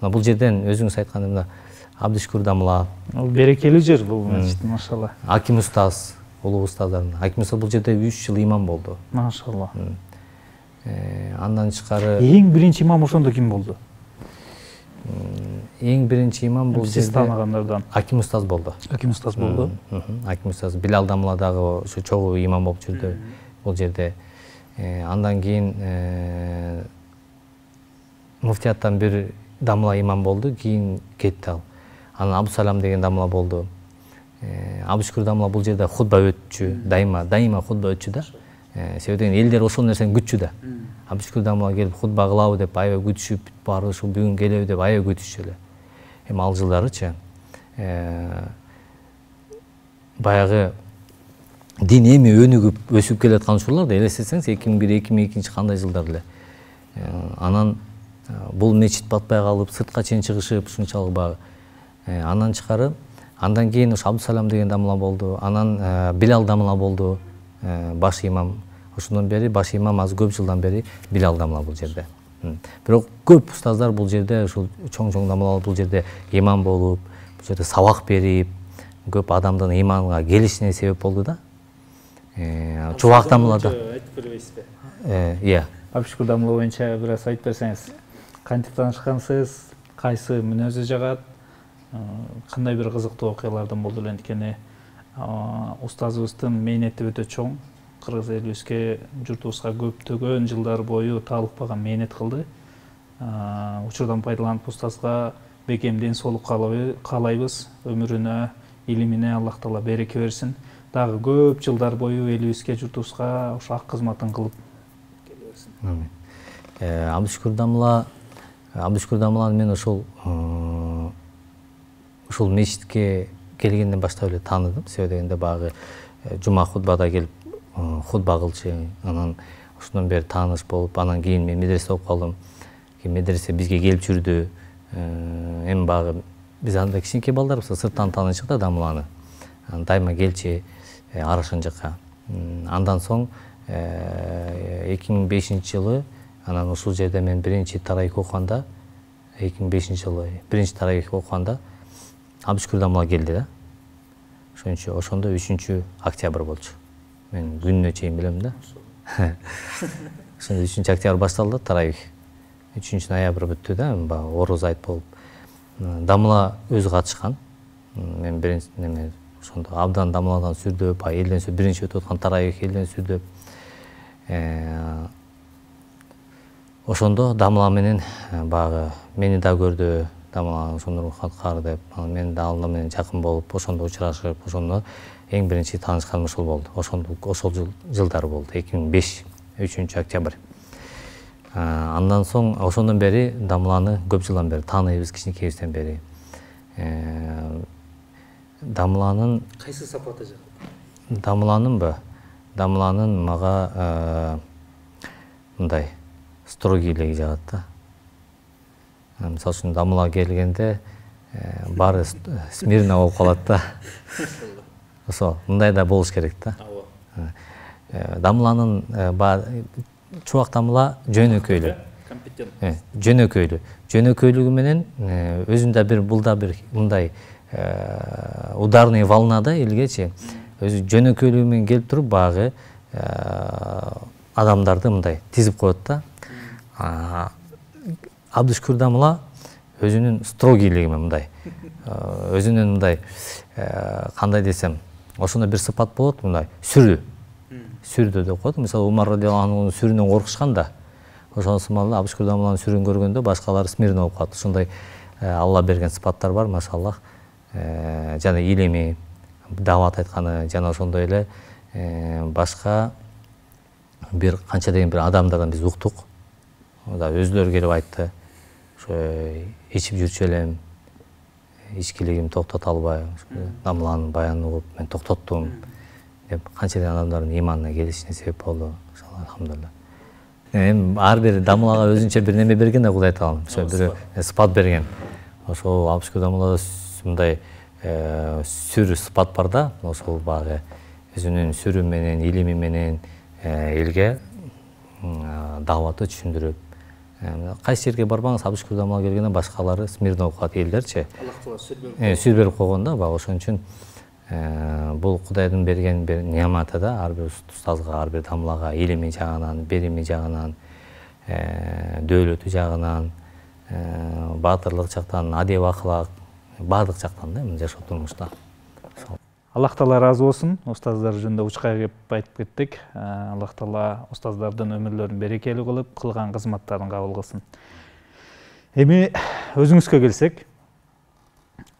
Мына бул жерден өзүңүз айткандай мына Абдышкүр дамла берекелүү жер бул мечит, машалла. Аким устаз, улуу устаздардан. Аким устаз бул жерде 3 жыл имам болду. Машалла. Андан тышкары эң биринчи имам ошондо ким болду? Эң биринчи имам бул жерде сиз тааныгандардан Аким устаз болду. Аким устаз болду. Аким устаз Билал дамладагы ошо чогуу имам болуп жүрдү бул жерде. Андан кийин муфтияттан бир дамла имам болду, кийин кетти ал. Анан Абдусалам деген дамла болду. Абдышкүр дамла бул жерде хутба өтчү, дайыма хутба өтчү да. Себеби деген элдер ошол нерсени күтчү да. Абдышкүр дамла келип хутба кылабы деп аябай күтүшүп, баары ушул бүгүн келеби деп аябай күтүшчү эле. Эми ал жылдарычы баягы дин эми өнүгүп өсүп келаткан учурларда элестетсеңиз 2001-2002 кандай жылдар эле. Анан бул мечит батпай калып, сыртка чейин чыгышып, ушунчалык багы. Андан тышкары, андан кийин ошо Абдусалам деген дамла болду. Анан Билал дамла болду, баш имам. Ошондон бери баш имам азыр көп жылдан бери Билал дамла бул жерде. Бирок көп устаздар бул жерде, ушул чоң дамлалар бул жерде имам болуп, бул жерде сабак берип, көп адамдын иманга келишине себеп болду да. Чубак дамлада айтып бербейсизби? Иә. Абдышкүр дамла боюнча бир аз айтып берсеңиз, кантип таанышкансыз, кайсы мүнөзү жагат, кандай бир кызыктуу окуялардан болду эле, анткени устазыбыздын мээнети өтө чоң. Кыргыз элибизге, журтубузга көптөгөн жылдар бою таалыкпаган мээнет кылды. Учурдан пайдаланып устазга бекем соолук каалайбыз. Өмүрүнө, илимине Аллах Таала береке берсин. Дагы көп жылдар бою элибизге, журтубузга ошо ак кызматын кылып келе берсин. Абдышкүр дамланы мен ушул мечитке келгенден баштап эле тааныдым. Себеби дегенде баягы жума хутбада келип хутба кылчу, анан ошондон бери тааныш болуп, анан кийин мен медреседе окуп калдым. Кийин медресе бизге келип жүрдү. Эми баягы биз анда кичинекей балдарбыз, сырттан таанычык да дамланы. Дайыма келчи Арашын жакка. Андан соң 2005-жылы анан ушул жерде мен биринчи тарайк окуганда, 2005-жылы биринчи тарайк окуганда Абдышкүр дамла келди да. Ошондо 3-октябрь болчу. Мен күнүнө чейин билем да. Ошондо 3-октябрь башталды тарайк. 3-ноябрь бүттү да, ороз айт болуп. Дамла өзү катышкан. Мен биринчи неме ошондо абдан дамладан сүрдөп, элден сүрдөп, биринчи өтүп аткан тарайк элден сүрдөп. Ошондо дамла менен баягы мени да көрдү, дамла ошондо рухаткар деп, мен да ал менен жакын болуп, ошондо учурашып, ошондо эң биринчи таанышканым ошол болду. Ошол жылдары болду, 2005, 3-октябрь. Андан соң ошондон бери дамланы көп жылдан бери тааныйбыз, кичинекейибизден бери. Дамланын кайсы сапаты жагат? Дамланын мага мындай строгийлиги жагат да. Мисалы үчүн дамла келгенде баары смирно болуп калат да. Ошо мындай да болуш керек да. Дамланын чубак дамла жөнөкөйлүү. Жөнөкөйлүгү менен өзүндө бир булда бир мындай ударный волнада элгечи өзү жөнөкөйлүгү менен келип туруп баягы адамдарды мындай тизип коет да. Абдышкүр дамла өзүнүн строгийлиги менен мындай өзүнүн мындай кандай десем, ошондой бир сыпат болот, мындай сүрдү деп коет. Мисалы Умар радиаллаху анхунун сүрүнөн коркушкан да. Ошол сымалуу Абдышкүр дамланын сүрүн көргөндө башкалар смирно болуп калат. Ушундай Алла берген сыпаттар бар, машаллах. жана илими, даават айтканы жана ошондой эле башка бир канча деген бир адамдардан биз уктук. Өзүлөрү келип айтты, ошо ичип жүрчү элем, ичкилигим токтото албай, дамыланын баянын угуп мен токтоттум деп канча деген адамдардын иманына келишине себеп болду. Алхамдулилла. Эми ар бир дамылага өзүнчө бир неме берген да Кудай таалам. Ошо бир сыпат берген. Ошол алпышкы дамылада мындай сүр сыпат бар да, ошол багы өзүнүн сүрү менен, илими менен элге дааватты түшүндүрүп, кайсы жерге барбаңыз алпышкы дамылга келгенде башкалары смирно окуп элдерчи. Сүр берип койгон да, баягы ошон үчүн бул Кудайдын берген бир неаматы да, ар бир устазга, ар бир дамылага илими жагынан, берими жагынан, дөөлөтү жагынан, баатырлык жактан, адеп акылак, баардык жактан да жашоо турмушта. Аллах Таала ыраазы болсун. Устаздар жөнүндө учка кеп айтып кеттик. Аллах Таала устаздардын өмүрлөрүн берекелүү кылып, кылган кызматтарын кабыл кылсын. Эми өзүңүзгө келсек,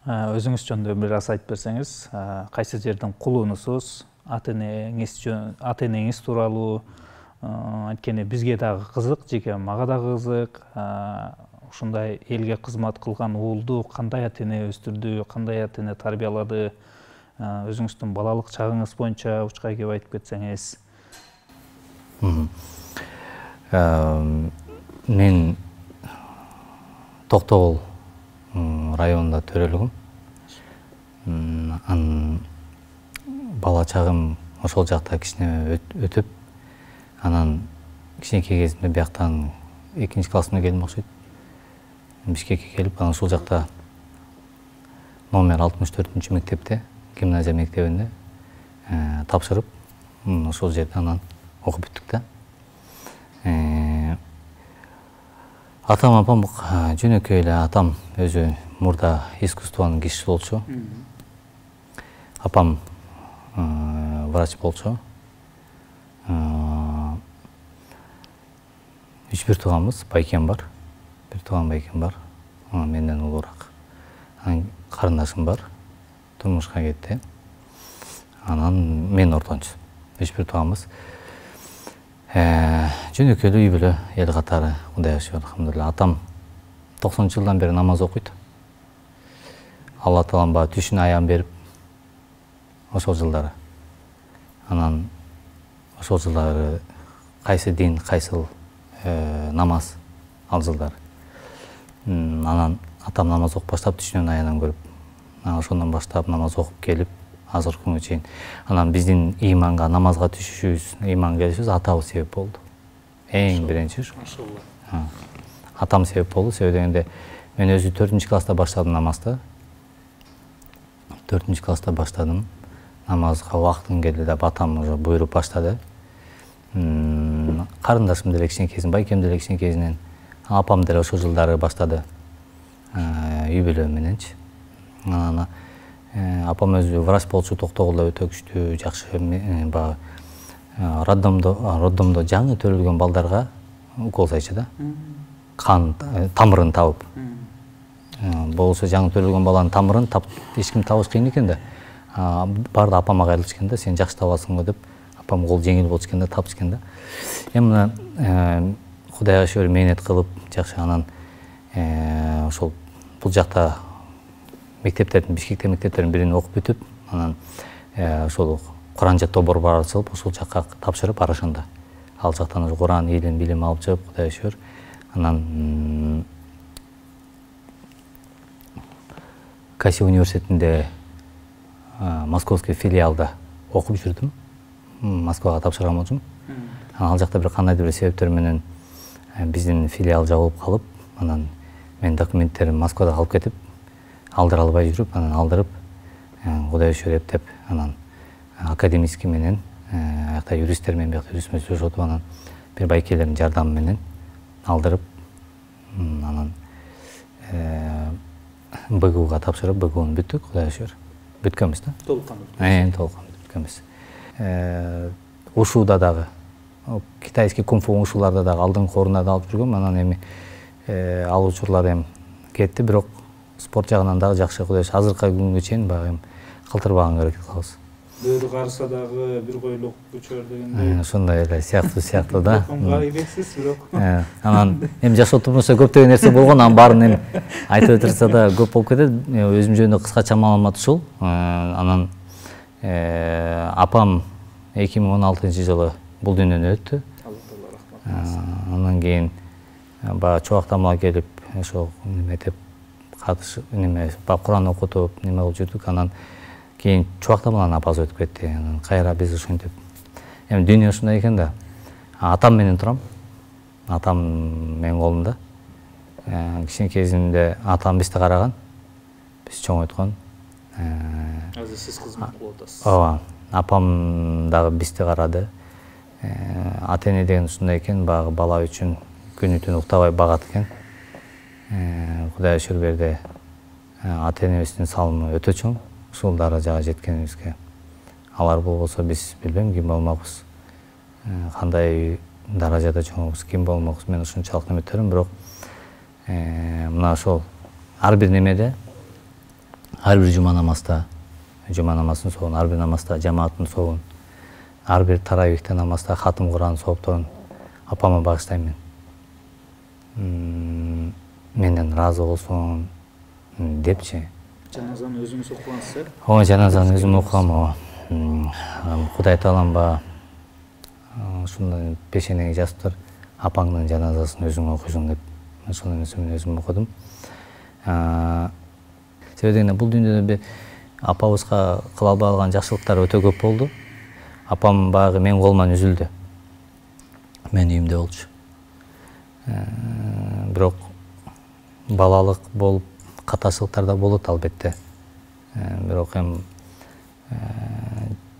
өзүңүз жөнүндө бир аз айтып берсеңиз, кайсы жердин кулунусуз, ата энеңиз тууралуу, анткени бизге дагы кызык, жеке мага дагы кызык. Ушундай элге кызмат кылган уулду кандай ата эне өстүрдү, кандай ата эне тарбиялады, өзүңүздүн балалык чагыңыз боюнча учка кеп айтып кетсеңиз. Мен Токтогул районунда төрөлгөм. Бала чагым ошол жакта кичине өтүп, анан кичинекей кезимде бияктан 2 классына келдим окшойт. Бишкекке келип, анан ушул жакта номер 64-мектепте, гимназия мектебинде тапшырып, ошол жерде анан окуп бүттүк да. Атам, апам жөнөкөй эле, атам өзү мурда искусствонун кишиси болчу. Апам врач болчу. 3 тууганбыз, байкем бар. Бир тууган байкем бар, менден улуураак. Анан карындашым бар, турмушка кетти. Анан мен ортончу. 3 тууганбыз. Жөнөкөй үй бүлө, эл катары, Кудайга шүгүр, алхамдулилла. Атам 90-жылдан бери намаз окуйт. Алла Таалам бага түшүн аян берип, ошол жылдары. Анан ошол жылдары кайсы дин, кайсыл намаз ал жылдары. Анан атам намаз окуп баштап түшүнөн аянан көрүп, ошондон баштап намаз окуп келип, азыркы күнгө чейин. Анан биздин иманга, намазга түшүшүбүз, иман келишибиз атабыз себеп болду. Эң биринчи ушу. Атам себеп болду. Себеп дегенде мен өзү 4-класста баштадым намазды. 4-класста баштадым. Намазга убактын келди деп атам уже буйруп баштады. Карындашым деле кичинекейсин, байкем деле кичинекейсинен, апам деле ошол жылдары баштады. Үй бүлө мененчи. Апам өзү врач болчу, Токтогулда өтө күчтүү, жакшы баягы роддомдо жаңы төрөлгөн балдарга укол сайчу да. Кан тамырын табып. Болсо жаңы төрөлгөн баланын тамырын эч ким табыш кыйын экен да. Барды апама кайрылышкан да, сен жакшы табасың го деп, апам кол жеңил болчу экен да, тапышкан да. Эми мына Кудайга шүгүр мээнет кылып, жакшы анан ошол бул жакта мектептердин, Бишкекте мектептердин бирин окуп бүтүп, анан ошол Куран жаттоо борбору ачылып, ошол жакка тапшырып Арашанда. Ал жактан ошо Куран, илим, билим алып чыгып, Кудайга шүгүр. Анан Каси университетинде Московский филиалда окуп жүрдүм. Москвага тапшырган болчумун. Ал жакта бир кандайдыр бир себептер менен биздин филиал жабылып калып, анан мен документтерим Москвада калып кетип, алдыра албай жүрүп, анан алдырып, Кудайга шүгүр эптеп, анан академический менен, аякта юристтер менен биякта юристтер сүйлөшүп, анан бир байкелердин жардамы менен алдырып, анан БГУга тапшырып, БГУну бүттүк, Кудайга шүгүр. Бүткөнбүз да. Толуккан бүткөнбүз. Ушуда дагы, китайский кунг-фу ушуларда дагы алдыңкы орунда алып жүргөм, анан эми ал учурлар эми кетти, бирок спорт жагынан дагы жакшы. Кудай азыркы күнгө чейин баягы калтырбаганга аракет кылабыз. Бөөдү карыса дагы бир койлук көчөр дегендей. Ошондой эле сыяктуу да. Ирексиз бирок. Анан эми жаш отурмаса көптөгөн нерсе болгон, анын баарын эми айтып өтүрсө да көп болуп кетет. Өзүм жөнүндө кыскача маалымат ушул. Анан апам 2016-жылы бул дүйнөдөн өттү. Андан кийин баягы чубактамага келип, ошо неметип катышып, Куран окутуп, неме кылып жүрдүк. Анан кийин чубактамадан апасы өтүп кетти. Анан кайра биз ушинтип. Эми дүйнө ушундай экен да. Атам менен турам. Атам менин колумда. Кичинекей кезимде атам бизди караган. Биз чоңойткон. Азыр сиз кызмат кылып атасыз. Ооба. Апам дагы бизди карады. Ата-эне деген ушундай экен, баягы бала үчүн күнү-түн уктабай багат экен. Кудай шүгүр берди. Ата-энебиздин салымы өтө чоң. Ушул даражага жеткенибизге. Алар болбосо биз билбейм ким болмокпуз. Кандай даражада чоңойбуз, ким болмокпуз. Мен ушунчалык үмүттөрүм, бирок мына ошол ар бир немеде, ар бир жума намазда, жума намазын соогун, ар бир намазда жамааттын соогун, ар бир таравихте намазда хатым Куран соопторун апама багыштайм мен. Менден ыраазы болсун депчи. Жаназаны өзүңүз окугансыз, Ооба, жаназаны өзүм окугам. Кудай таалам ушундай пешенеге жазып тур, апаңдын жаназасын өзүң окуйсуң деп. Ошол нерсени мен өзүм окудум. Себеби дегенде бул дүйнөдө апабызга кыла албай калган жакшылыктар өтө көп болду. Апам баягы менин колуман үзүлдү. Мен үйүмдө болчу. Бирок балалык болуп каташылыктар да болот албетте. Бирок эми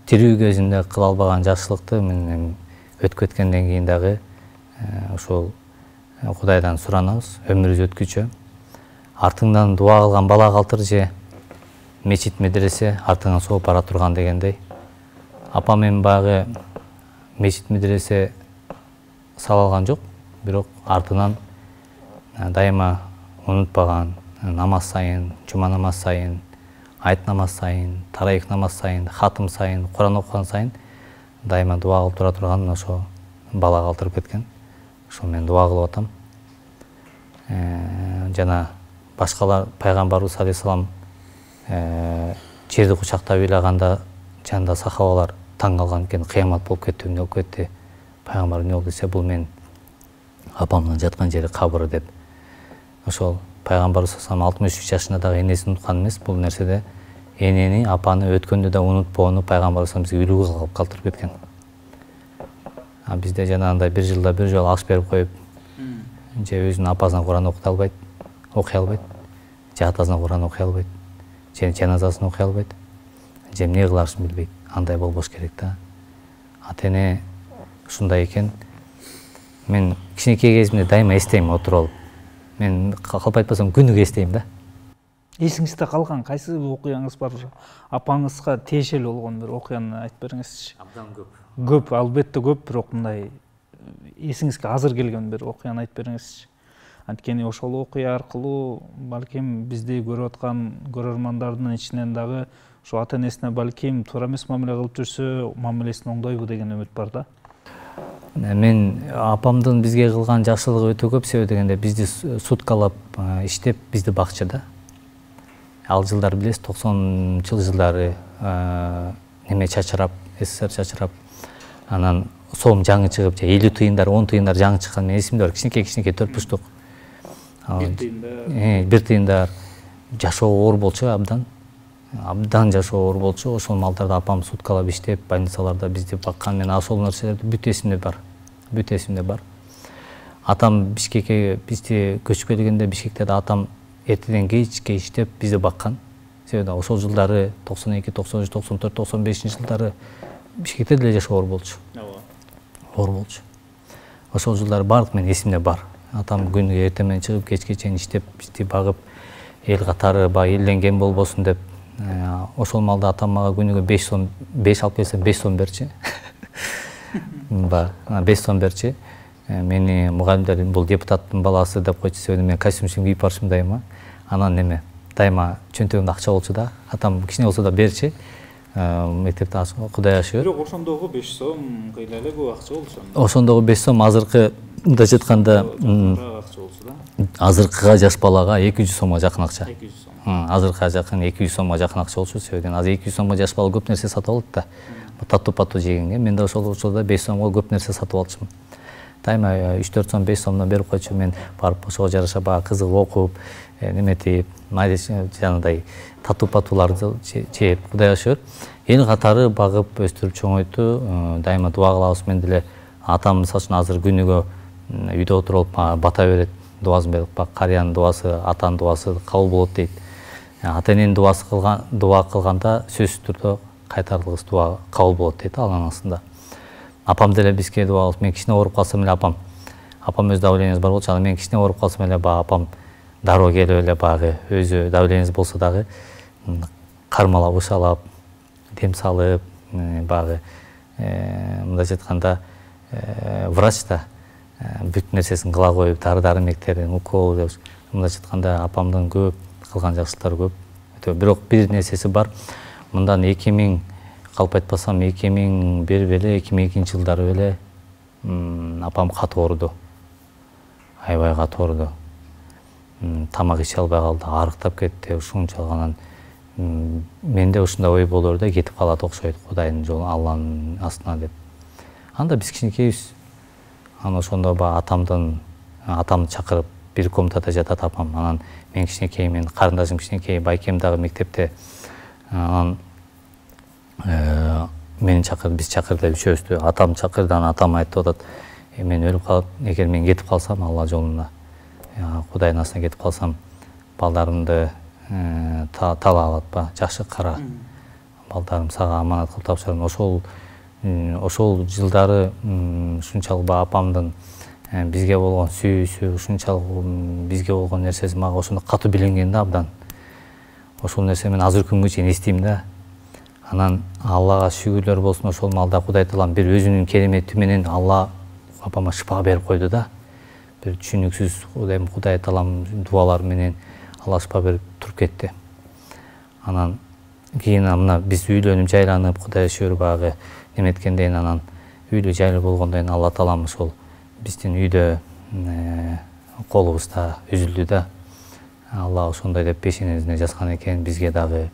тирүү кезинде кыла албаган жакшылыкты мен өтүп кеткенден кийин дагы ошол Кудайдан суранабыз, өмүрүбүз өткүчө. Артыңдан дуа кылган бала калтыр же мечит медресе артыңан сооп бара турган дегендей. Апам эми баягы мечит медресе сала алган жок, бирок артынан дайыма унутпаган, намаз сайын, жума намаз сайын, айт намаз сайын, тараих намаз сайын, хатым сайын, Куран окуган сайын дайыма дуа кылып тура турган ошо бала калтырып кеткен. Ошо мен дуа кылып атам. Жана башкалар пайгамбарыбыз алейхисалам жерди кучактап ыйлаганда жанында сахабалар таң калган экен, кыямат болуп кетти, эмне болуп кетти? Пайгамбар эмне болду десе, бул мен апамдын жаткан жери кабыры деп. Ошол пайгамбарыбыз 63 жашында дагы энесин унуткан эмес. Бул нерседе энени, апаны өткөндө да унутпоону пайгамбарыбыз бизге үлгү кылып калтырып кеткен. Бизде жанагындай бир жылда бир жолу аш берип коюп, же өзүнүн апасына Куран окуй албайт, же атасына Куран окуй албайт, же жаназасын окуй албайт, же эмне кыларышын билбейт. Андай болбош керек да. Ата-эне ушундай экен. Мен кичинекей кезимде дайыма эстейм отуруп алып. Мен калп айтпасам күнүгө эстейм да. Эсиңизде калган кайсы окуяңыз бар? Апаңызга тиешелүү болгон бир окуяны айтып бериңизчи. Абдан көп. Көп, албетте көп, бирок мындай эсиңизге азыр келген бир окуяны айтып бериңизчи. Анткени ошол окуя аркылуу балким бизди көрүп аткан көрөрмандардын ичинен дагы ошо ата-энесине балким туура эмес мамиле кылып жүрсө, мамилесин оңдойбу деген үмүт бар да. Мен апамдын бизге кылган жакшылыгы өтө көп. Себеби дегенде бизди суткалап иштеп бизди бакчы да. Ал жылдар билесиз, 90 жылдары неме чачырап, СССР чачырап, анан сом жаңы чыгып, 50 тыйындар, 10 тыйындар жаңы чыккан. Мен эсимде бар, кичинекей төрт-бурчтук. Бир тыйындар жашоо оор болчу, абдан жашоо оор болчу. Ошол малдарды апам суткалап иштеп, больницаларда бизди баккан. Мен ошол нерселерди бүт эсимде бар. Атам Бишкекке бизди көчүп келгенде, Бишкекте да атам эртеден кечке иштеп бизди баккан. Себеби ошол жылдары 92, 93, 94, 95 жылдары Бишкекте деле жашоо оор болчу. Ошол жылдары бардык мен эсимде бар. Атам күнүгө эртең менен чыгып, кечке чейин иштеп, бизди багып, эл катары элден кем болбосун деп. Ошол малда атам мага күнүгө 5 сом, 5 алып келсем 5 сом берчи. 5 сом берчи. Мени мугалимдер бул депутаттын баласы деп койчу, себеби мен костюм кийип барышым дайыма. Анан дайыма чөнтөгүмдө акча болчу да. Атам кичине болсо да берчи. Мектепте Кудай ашыгыр. Бирок ошондогу 5 сом кыйла эле көп акча болчу. Ошондогу 5 сом азыркыда айтканда акча болчу да. Азыркыга жаш балага 200 сомго жакын акча. 200 сом. Азыркыга жакын 200 сомго жакын акча болчу. Себеби азыр 200 сомго жаш бала көп нерсе сатып алат да. Тату-пату жегенге мен да ошол учурда 5 сомго көп нерсе сатып алчумун. Дайыма 3-4 сом 5 сомдон берип койчу, мен барып ошого жараша баягы кызыгып окуп, неметип, жанагындай тату-патуларды жеп, Кудай ашыгыр. Эл катары багып өстүрүп чоңойту. Дайыма дуа кылабыз. Мен деле атам мисалы үчүн азыр күнүгө үйдө отуруп бата берет, дуасын берип, карыянын дуасы, атанын дуасы кабыл болот дейт. Ата-эненин дуасы дуа кылганда сөзсүз түрдө кайтарылгыс дуа кабыл болот дейт Алланын астында. Апам деле бизге дуа кылып, мен кичине ооруп калсам эле апам өз давлениясы бар болчу, анан мен кичине ооруп калсам эле апам дароо келип эле багы өзү давлениясы болсо дагы кармалап, ышалап, дем салып, багы мындайча айтканда врач да бүт нерсесин кыла коюп, дары-дармектерин, укол деп, мындайча айтканда апамдын көп кылган жакшылыктары көп. Бирок бир нерсеси бар. Мындан 2000 калп айтпасам 2001 беле 2002 жылдары беле апам катуу ооруду. Аябай катуу ооруду. Тамак иче албай калды, арыктап кетти, ушунчалык. Анан менде ушундай ой болор да, кетип калат окшойт Кудайдын жолу, Алланын астына деп. Анда биз кичинекейбиз. Анан ошондо атамды чакырып бир комнатада жатат апам. Анан мен кичинекей, мен карындашым кичинекей, байкем дагы мектепте. Анан мени чакырды, биз чакырды, үчөөбүздү. Атам чакырды, анан атам айтып атат: "Мен өлүп калып, эгер мен кетип калсам Алла жолуна, Кудайдын астына кетип калсам, балдарымды талап алатпа, жакшы кара. Балдарым сага аманат кылып тапшырам." Ошол жылдары ушунчалык апамдын бизге болгон сүйүүсү, ушунчалык бизге болгон нерсеси мага ошондо катуу биленген да абдан. Ошол нерсе мен азыр күнгө чейин эстейм да. Анан Аллага шүгүрлөр болсун, ошол маалда Кудай Таалам бир өзүнүн керемети менен Алла апама шифа берип койду да. Бир түшүнүксүз Кудай Таалам дуалары менен Алла шифа берип туруп кетти. Анан кийин мына биз үйлөнүп жайланып, Кудай шүгүр багы неметкенден анан үйлүү жайлуу болгондон кийин Алла Таалам ошол биздин үйдө колубузда үзүлдү да. Алла ошондой деп пешенебизине жазган экен, бизге дагы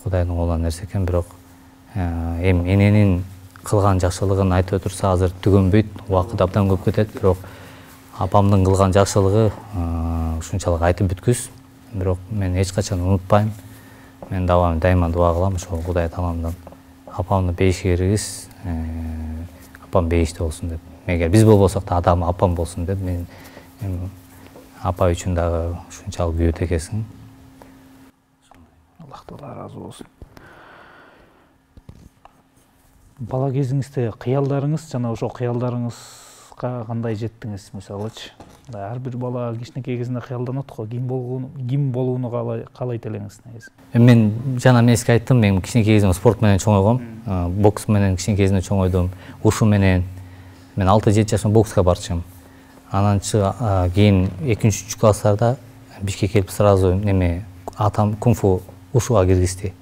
Кудайдын колунан нерсе экен. Бирок эми эненин кылган жакшылыгын айтып отурса азыр түгөнбөйт, убакыт абдан көп кетет. Бирок апамдын кылган жакшылыгы ушунчалык айтып бүткүс. Бирок мен эч качан унутпайм. Мен дайыма дуа кылам ошол Кудай Тааламдан апамды бейишке киргиз, апам бейиште болсун деп. Эгер биз болбосок да апам болсун деп. Мен апа үчүн дагы ушунчалык күйөт экенсиң. Аллах Таала ыраазы болсун. Бала кезиңизде кыялдарыңыз, жана ошол кыялдарыңызга кандай жеттиңиз, мисалычы? Ар бир бала кичинекей кезинде кыялданат го, ким болууну каалайт элеңиз негизи? Мен жана эмеске айттым, мен кичинекей кезимде спорт менен чоңойгом. Бокс менен кичинекей кезимде чоңойдум. Ушу менен мен 6-7 жашымда бокска барчым. Анан кийин 2-3 класстарда бишке келип сразу атам кунг-фу ушуга киргизди.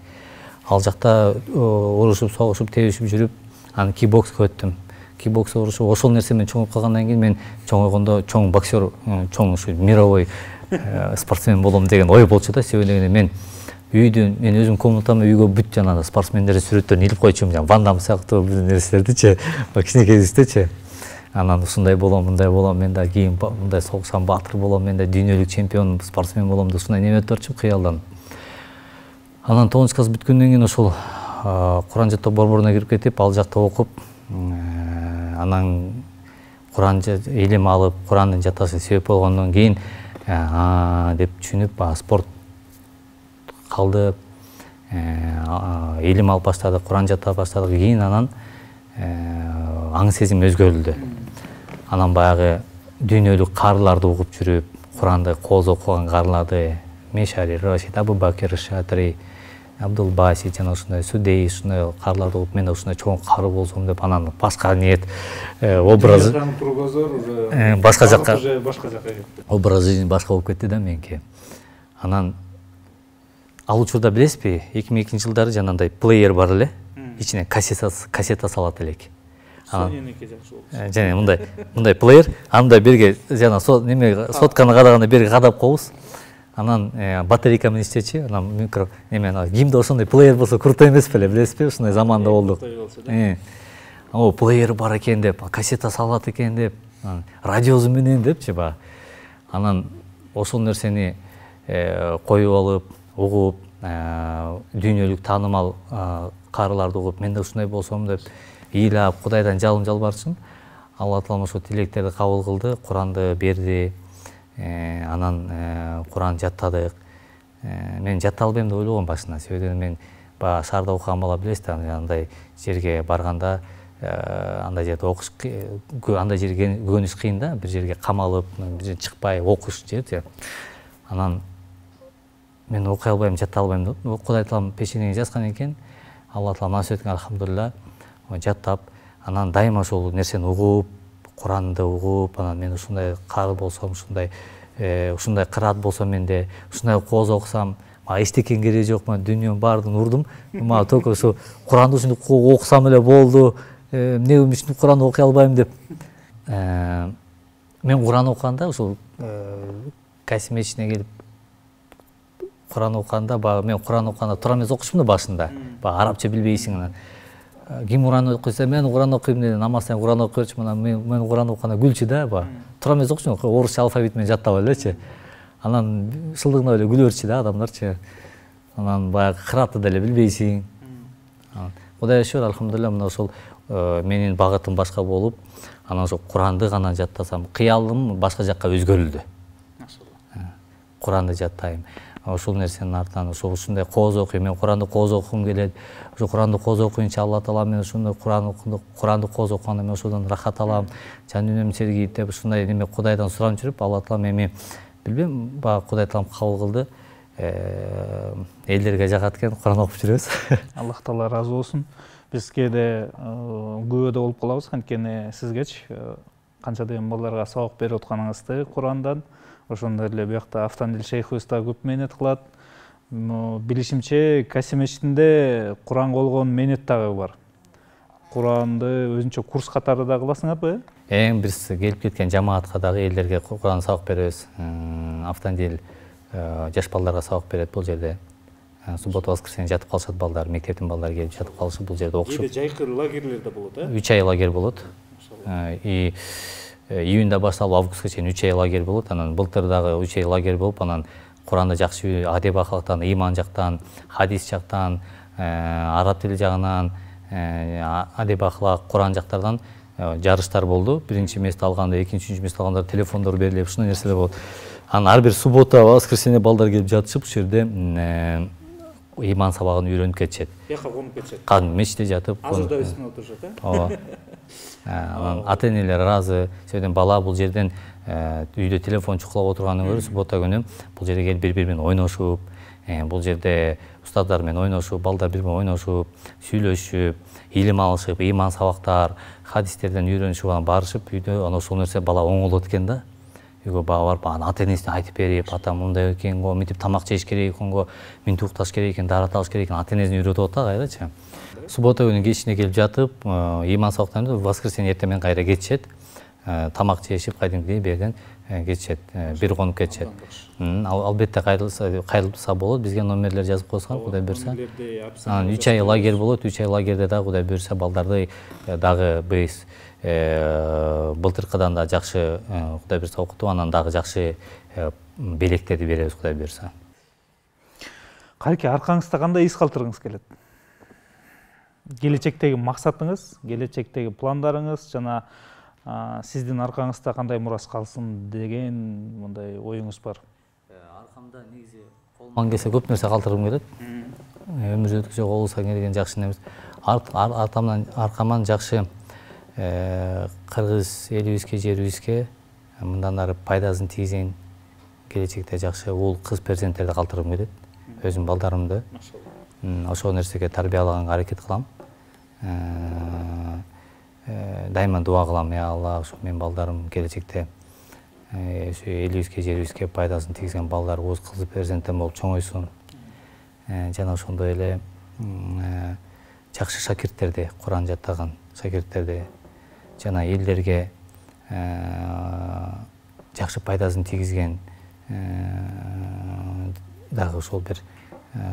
Ал жакта урушуп, согушуп, тебишип жүрүп, анан кикбокска өттүм. Кикбокс урушуп, ошол нерсе менен чоңоюп калгандан кийин мен чоңойгондо чоң боксер, чоң ушу мировой спортсмен болом деген ой болчу да. Себеби мен мен өзүм комнатама үйгө бүт жанагы спортсмендердин сүрөттөрүн илип койчумун, жана Ван Дам сыяктуу бир нерселердичи, кичинекей кезиздечи. Анан ушундай болом, мындай болом, мен да кийин мындай согушкан баатыр болом, мен да дүйнөлүк чемпион, спортсмен болом деп ушундай неме өтөрчүм кыялдан. Анан 9 класс бүткөндөн кийин ошол Куран жаттоо борборуна кирип кетип, ал жакта окуп, анан Куран илим алып, Курандын жатташына себеп болгондон кийин деп түшүнүп, спорт калды, илим алып баштадык, Куран жаттап баштадык. Кийин анан аң сезим өзгөрүлдү. Анан баягы дүйнөлүк карыларды угуп жүрүп, Куранды кооз окуган карыларды, Мешари, Рашид, Абу Бакир, Шатри, Абдул Баси жана ушундай Судей, ушундай карыларды угуп, мен да ушундай чоң кары болсом деп, анан башка ниет образы башка жакка кетти. Образ жизни башка болуп кетти да меники. Анан ал учурда билесизби, 2002-жылдары жанагындай плеер бар эле, ичине кассета салат элек. Соненики жакшы болчу. Жана мындай плеер, анда берге жана неме сотканы кадаганда берге кадап коебуз. Анан батарейка менен иштечи, анан микро неме кимде ошондой плеер болсо круто эмес беле, билесизби? Ушундай заманда болдук. О, плеер бар экен деп, кассета салат экен деп, радиосу менен депчи ба. Анан ошол нерсени коюп алып, угуп, дүйнөлүк таанымал карыларды угуп, мен да ушундай болсом деп ыйлап, Кудайдан жалын жалбарчын. Алла Таала ошо тилектерди кабыл кылды, Куранды берди. Анан Куран жаттадык. Мен жатта албайм деп ойлогом башында. Себеби мен баягы шаарда окуган бала билесиз, андай жерге барганда андай жерде окуш, андай жерге көгөнүш кыйын да, бир жерге камалып, бир жерге чыкпай окуш жер. Анан мен окуй албайм, жата албайм деп, Кудай Таалам пешенеге жазган экен. Алла Таала насип эткен, алхамдулилла, жаттап, анан дайыма ошол нерсени угуп, Куранды угуп, анан мен ушундай кары болсом, ушундай кыраат болсом менде, ушундай кооз окусам, эчтекен кереги жок, мен дүйнөнүн баардыгын урдум. Мага только ушу Куранды ушинтип окусам эле болду. Эмне үчүн Куранды окуй албайм деп. Мен Куран окуганда ушул касим ичине келип Куран окуганда, мен Куран окуганда тура эмес окушмун да башында. Арабча билбейсиң анан. Ким Куран окуйса, мен Куран окуйм деп, намаздан Куран окуп берчи, мен Куран окуганда күлчү да, тура эмес окушмун, орусча алфавит менен жаттап элечи. Анан шылдыгына эле күлөрчү да адамдарчы. Анан баягы кыраатты деле билбейсиң. Кудайга шүгүр, алхамдулилла, мына ошол менин багытым башка болуп, анан ошо Куранды гана жаттасам, кыялым башка жакка өзгөрүлдү. Куранды жаттайм. Ошол нерсенин артынан ушундай кооз окуйм, мен Куранды кооз окугум келет. Ошо Куранды кооз окуйнча Алла Таала мен ушундай Куранды кооз окуганда мен ошодон рахат алам, жан дүйнөм сергийт деп ушундай неме Кудайдан сурап жүрүп, Алла Таала эми билбейм, баягы Кудай Таалам кабыл кылды. Элдерге жагат экен, Куран окуп жүрөбүз. Аллах Таала ыраазы болсун. Биз кээде күбөдө болуп калабыз, анткени сизгечи канча деген балдарга сабак берип атканыңызды Курандан. Ошондой эле биякта Автандил шейхибиз да көп мээнет кылат. Билишимче, Касим мечитинде Куранга болгон мээнет дагы бар. Куранды өзүнчө курс катары да кыласыңарбы? Биз келип кеткен жамаатка дагы элдерге Куран сабак беребиз. Автандил жаш балдарга сабак берет бул жерде. Суббота, воскресенье жатып калышат балдар, мектептин балдары келип жатып калышып бул жерде окушуп. Жайкы лагерлер да болот, 3 ай лагерь болот. Июнда башталып августка чейин 3 ай лагерь болот. Анан былтыр дагы 3 ай лагерь болуп, анан Куранды жакшы адеп акылыктан, ыйман жактан, хадис жактан, араб тили жагынан, адеп акылак, Куран жактардан жарыштар болду. Биринчи месте алганда, экинчи, үчүнчү месте алгандар телефондор берилип, ушундай нерселер болот. Анан ар бир суббота, воскресенье балдар келип жатышып, ушул жерде ыйман сабагын үйрөнүп кетишет. Жака конуп кетишет. Кадимки мечитте жатып, азыр да үстүнө отурушат, ооба. Анан ата-энелер ыраазы. Себеби бала бул жерден үйдө телефон чукулап отургандан көрө суббота күнү бул жерге келип бири-бири менен ойношуп, бул жерде устаздар менен ойношуп, балдар бири менен ойношуп, сүйлөшүп, илим алышып, ыйман сабактар, хадистерден үйрөнүшүп, анан барышып үйдө, анан ошол нерсе бала оңолот экен да. Үйгө барып, анан ата-энесине айтып берип, ата мындай экен го, мынтип тамак жеш керек экен го, мынтип укташ керек экен, даарат алыш керек экен, ата-энесин үйрөтүп атат кайрачы. Суббота күнү кечине келип жатып, ыйман сабактан воскресенье эртең менен кайра кетишет. Тамак жешип, кайдымкидей берден кетишет, бир конуп кетишет. Албетте кайрылса болот, бизге номерлер жазып койсоңор, Кудай буйрса. Анан 3 ай лагерь болот, 3 ай лагерде дагы Кудай буйрса балдарды дагы биз былтыркыдан да жакшы Кудай буйрса окутуп, анан дагы жакшы белектерди беребиз Кудай буйрса. Кайки аркаңызда кандай из калтыргыңыз келет? Келечектеги максатыңыз, келечектеги пландарыңыз жана сиздин аркаңызда кандай мурас калсын деген мындай оюңуз бар? Аркамда негизи колуман келсе көп нерсе калтыргым келет. Өмүр өткүзө болсо келген жакшы нерсе. Аркаман жакшы кыргыз элибизге, жерибизге мындан ары пайдасын тийгизген келечекте жакшы уул кыз перзенттерди калтыргым келет. Өзүм балдарымды ошол нерсеге тарбиялаганга аракет кылам. Дайыма дуа кылам, я Алла, ушу мен балдарым келечекте элибизге, жерибизге пайдасын тийгизген балдар, уз кыз перзенттер болуп чоңойсун. жана ошондой эле жакшы шакирттерди, Куран жаттаган шакирттерди жана элдерге жакшы пайдасын тийгизген дагы ошол бир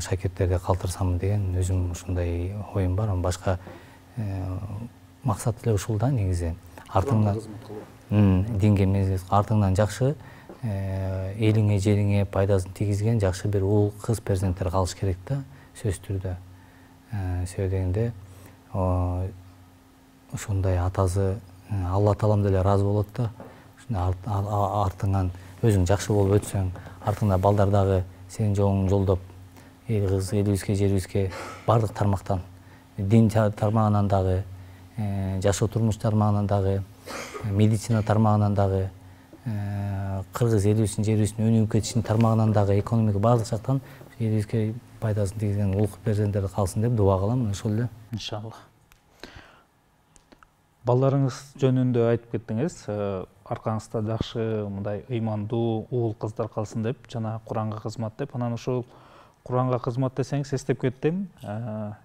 шакирттерди калтырсам деген өзүм ушундай оюм бар. Башка максат эле ушул да негизи. Артыңдан динге эмес, артыңдан жакшы элиңе, жериңе пайдасын тийгизген жакшы бир уул кыз перзенттер калыш керек да, сөзсүз түрдө. Себеби дегенде ошондой атасы Алла таалам деле ыраазы болот да. Артыңан өзүң жакшы болуп өтсөң, артыңда балдар дагы сенин жолуңду жолдоп, эл кыз, элибизге, жерибизге бардык тармактан, дин тармагынан дагы, жашоо турмуш тармагынан дагы, медицина тармагынан дагы, кыргыз элибиздин, жерибиздин өнүгүп кетишинин тармагынан дагы, экономика бардык жактан элибизге пайдасын тийгизген улук перзенттер калсын деп дуба кылам. Ошол эле. Иншалла. Балдарыңыз жөнүндө айтып кеттиңиз. Аркаңызда жакшы мындай ыймандуу уул кыздар калсын деп, жана Куранга кызмат деп. Анан ошол Куранга кызмат десеңиз эстеп кеттим.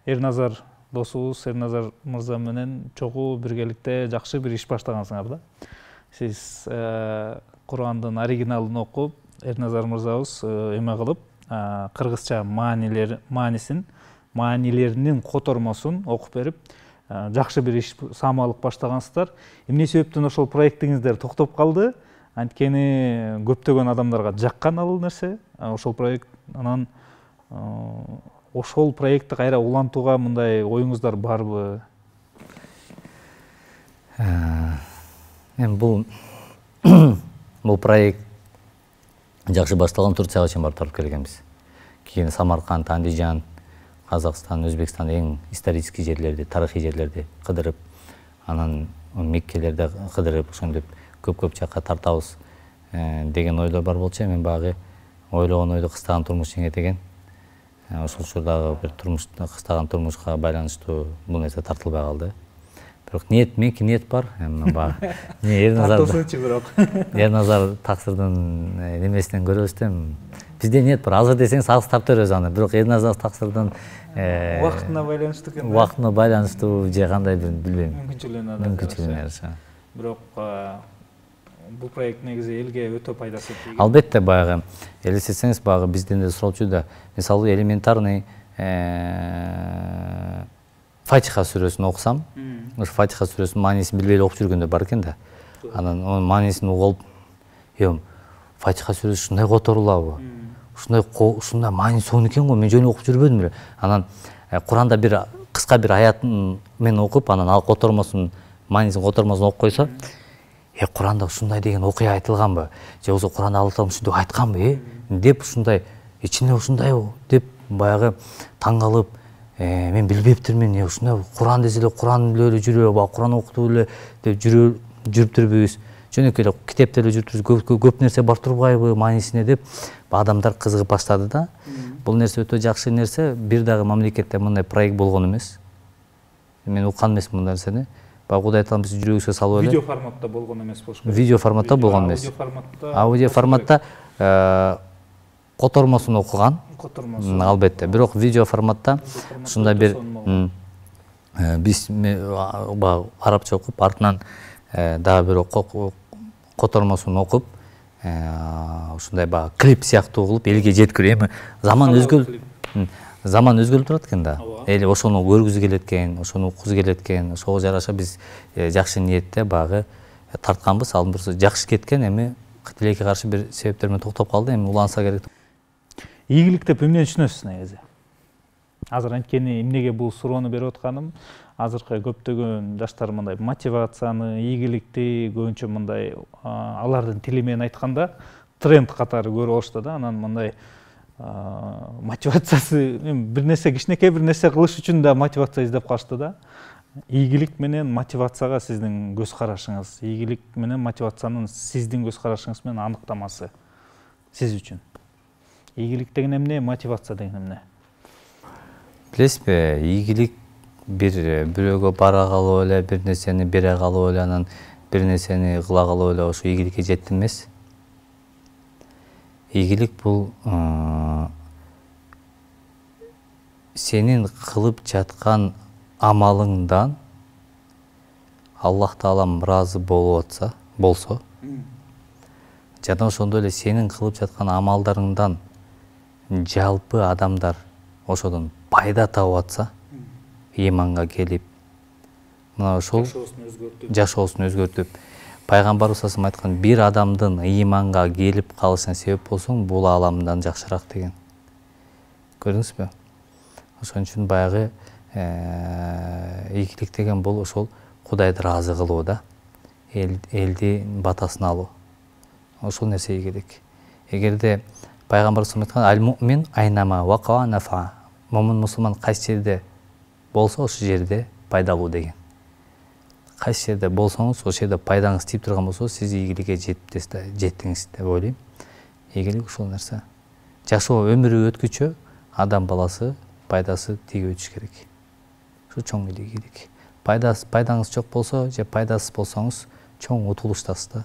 Эрназар досубуз, Эрназар мырза менен чогуу биргеликте жакшы бир иш баштагансыңар да. Сиз Курандын оригиналын окуп, Эрназар мырзабыз эме кылып, кыргызча маанилеринин котормосун окуп берип, жакшы бир иш самалык баштагансыздар. Эмне себептен ошол проектиңиздер токтоп калды? Анткени көптөгөн адамдарга жаккан ал нерсе, ошол проект. Анан ошол проектти кайра улантууга мындай оюңуздар барбы? Эми бул проект жакшы башталган, Турцияга чейин барып тарып келгенбиз. Кийин Самарканд, Андижан, Казакстан, Өзбекстан эң исторический жерлерди, тарыхый жерлерди кыдырып, анан Меккелерди кыдырып, ошентип көп жакка тартабыз деген ойлор бар болчу. Мен багы ойлогон ойду кыстаган турмуш жеңет экен. Ошол учурдагы бир кыстаган турмушка байланыштуу бул нерсе тартылбай калды. Бирок меники ниет бар. Эми багы Эрназар таксырдын немесинен көрөбүз да. Бизде ниет бар. Азыр десеңиз азыр тартып беребиз аны. Бирок Эрназар таксырдын убактына байланыштуу экен. Убактына байланыштуу же кандай билбейм. Мүмкүнчүлүгүнө. Бирок бул проект негизи элге өтө пайдасы тийген. Албетте, баягы элестетсеңиз, баягы бизден да суралчу да, мисалы элементарный Фатиха сүрөсүн окусам, ошо Фатиха сүрөсүнүн маанисин билбей окуп жүргөндөр бар экен да. Анан анын маанисин угуп, Фатиха сүрөсү ушундай которулабы? Ушундай мааниси сонун экен го, мен жөн окуп жүрбөдүм эле. Анан Куранда бир кыска бир аятын мен окуп, анан ал котормосун, маанисин котормосун окуп койсо, Куранда ушундай деген окуя айтылганбы? Же болбосо Куранда Алла таалам ушинтип айтканбы? Деп ушундай, ичинде ушундайбы деп баягы таң калып, мен билбептирмин, ушундай Куран десе эле Куран эле жүрөбү, Куран окутуп эле деп жүрүптүрбүз. Жөнөкөй эле китепте эле жүрүптүрбүз, көп нерсе бар турбайбы маанисине деп адамдар кызыгып баштады да. Бул нерсе өтө жакшы нерсе. Бир дагы мамлекетте мындай проект болгон эмес. Мен уккан эмесмин мындай нерсени. Кудай таалам бизди жүрөгүбүзгө салып эле. Видео форматта болгон эмес болуш керек. Видео форматта болгон эмес. Аудио форматта котормосун окуган. Албетте. Бирок видео форматта ушундай бир биз арабча окуп, артынан дагы бир котормосун окуп, ушундай клип сыяктуу кылып элге жеткирүү. Эми заман өзгөрүп турат экен да. Эли ошону көргүзү келет экен, ошону уккузу келет экен. Ошого жараша биз жакшы ниетте багы тартканбыз. Ал бир жакшы кеткен, эми тилекке каршы бир себептер менен токтоп калды. Эми уланса керек. Ийгилик деп эмне түшүнөсүз негизи? Азыр анткени эмнеге бул суроону берип атканым, азыркы көптөгөн жаштар мындай мотивацияны, ийгиликти көбүнчө мындай алардын тили менен айтканда тренд катары көрүп алышты да. Анан мындай мотивациясы бир нерсе, кичинекей бир нерсе кылыш үчүн да мотивация издеп калышты да. Ийгилик менен мотивацияга сиздин көз карашыңыз, ийгилик менен мотивациянын сиздин көз карашыңыз менен аныктамасы сиз үчүн. Ийгилик деген эмне, мотивация деген эмне? Билесизби, ийгилик бирөөгө бара калып эле, бир нерсени бере калып эле, анан бир нерсени кыла калып эле ошо ийгиликке жетти эмес. Ийгилик бул сенин кылып жаткан амалыңдан Аллах Таалам ыраазы болсо, жана ошондой эле сенин кылып жаткан амалдарыңдан жалпы адамдар ошодон пайда табып атса, иманга келип, мына ошол жашоосун өзгөртүп, пайгамбарыбыз салам айткан, бир адамдын иманга келип калышына себеп болсоң, бул ааламдан жакшыраак деген. Көрдүңүзбү? Ошон үчүн баягы ийгилик деген бул ошол Кудайды ыраазы кылуу да, элди батасын алуу. Ошол нерсе ийгилик. Эгерде пайгамбар салам айткан, аль-муъмин айнама вака нафа. Момун мусулман кайсы жерде болсо, ошол жерде пайдалуу деген. Кайсы жерде болсоңуз, ошол жерде пайдаңыз тип турган болсо, сиз ийгиликке жеттиңиз деп ойлойм. Ийгилик ушул нерсе. Жашоо өмүрү өткүчө адам баласы пайдасы тийип өтүш керек. Ушу чоң ийгилик. Пайдаңыз жок болсо, же пайдасыз болсоңуз, чоң утулуштасыз да.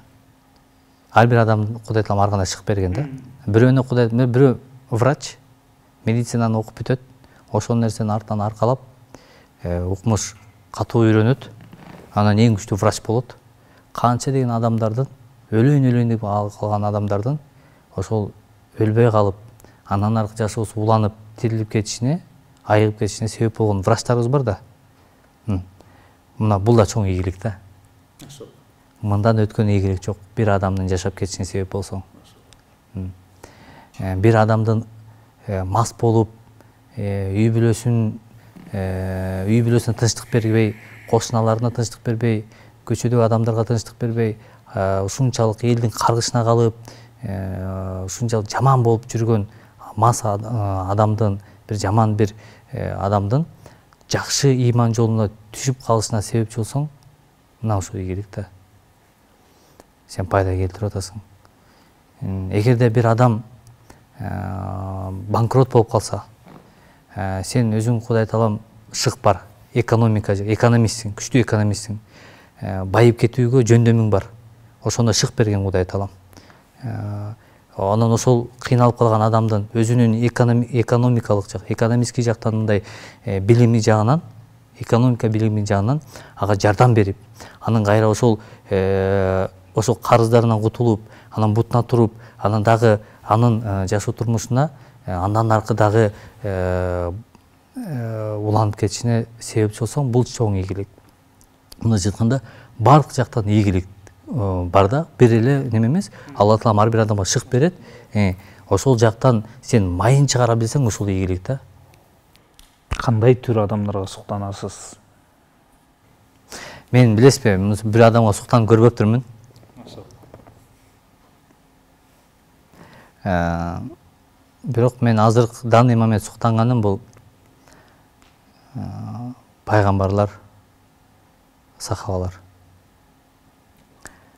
Ар бир адам Кудай Таалам ар кандай шык берген да. Бирөө врач медицинаны окуп бүтөт, ошол нерсени артынан аркалап, укмуш катуу үйрөнөт, анан эң күчтүү врач болот. Канча деген адамдардын өлөйүн деп калган адамдардын ошол өлбөй калып, андан аркы жашоосу уланып, тирилип кетишине, айыгып кетишине себеп болгон врачтарыбыз бар да. Мына бул да чоң ийгилик да. Мындан өткөн ийгилик жок. Бир адамдын жашап кетишине себеп болсоң. Бир адамдын мас болуп, үй бүлөсүнө тынчтык бербей, кошуналарына тынчтык бербей, көчөдөгү адамдарга тынчтык бербей, ушунчалык элдин каргышына калып, ушунчалык жаман болуп жүргөн мас адамдын, бир жаман бир адамдын жакшы иман жолуна түшүп калышына себепчи болсоң, мына ушул ийгилик да. Сен пайда келтирип атасың. Эгерде бир адам банкрот болуп калса, сен өзүң Кудай Таалам шык бар, экономистсиң, күчтүү экономистсиң, байып кетүүгө жөндөмүң бар. Ошондо шык берген Кудай Таалам. Анан ошол кыйналып калган адамдын өзүнүн экономистский жактан мындай билими жагынан, экономика билими жагынан ага жардам берип, анан кайра ошол карыздарынан кутулуп, анан бутуна туруп, анан дагы анын жашоо турмушуна андан аркы дагы уланып кетишине себепчи болсоң, бул чоң ийгилик. Мындайча айтканда, бардык жактан ийгилик бар да, бир эле неме эмес. Алла Таалам ар бир адамга шык берет. Ошол жактан сен майын чыгара билсең, ушул ийгилик да. Кандай түр адамдарга суктанасыз? Мен билесизби, бир адамга суктанып көрбөптүрмүн. Бирок мен азыр данный момент суктанганым бул пайгамбарлар, сахабалар.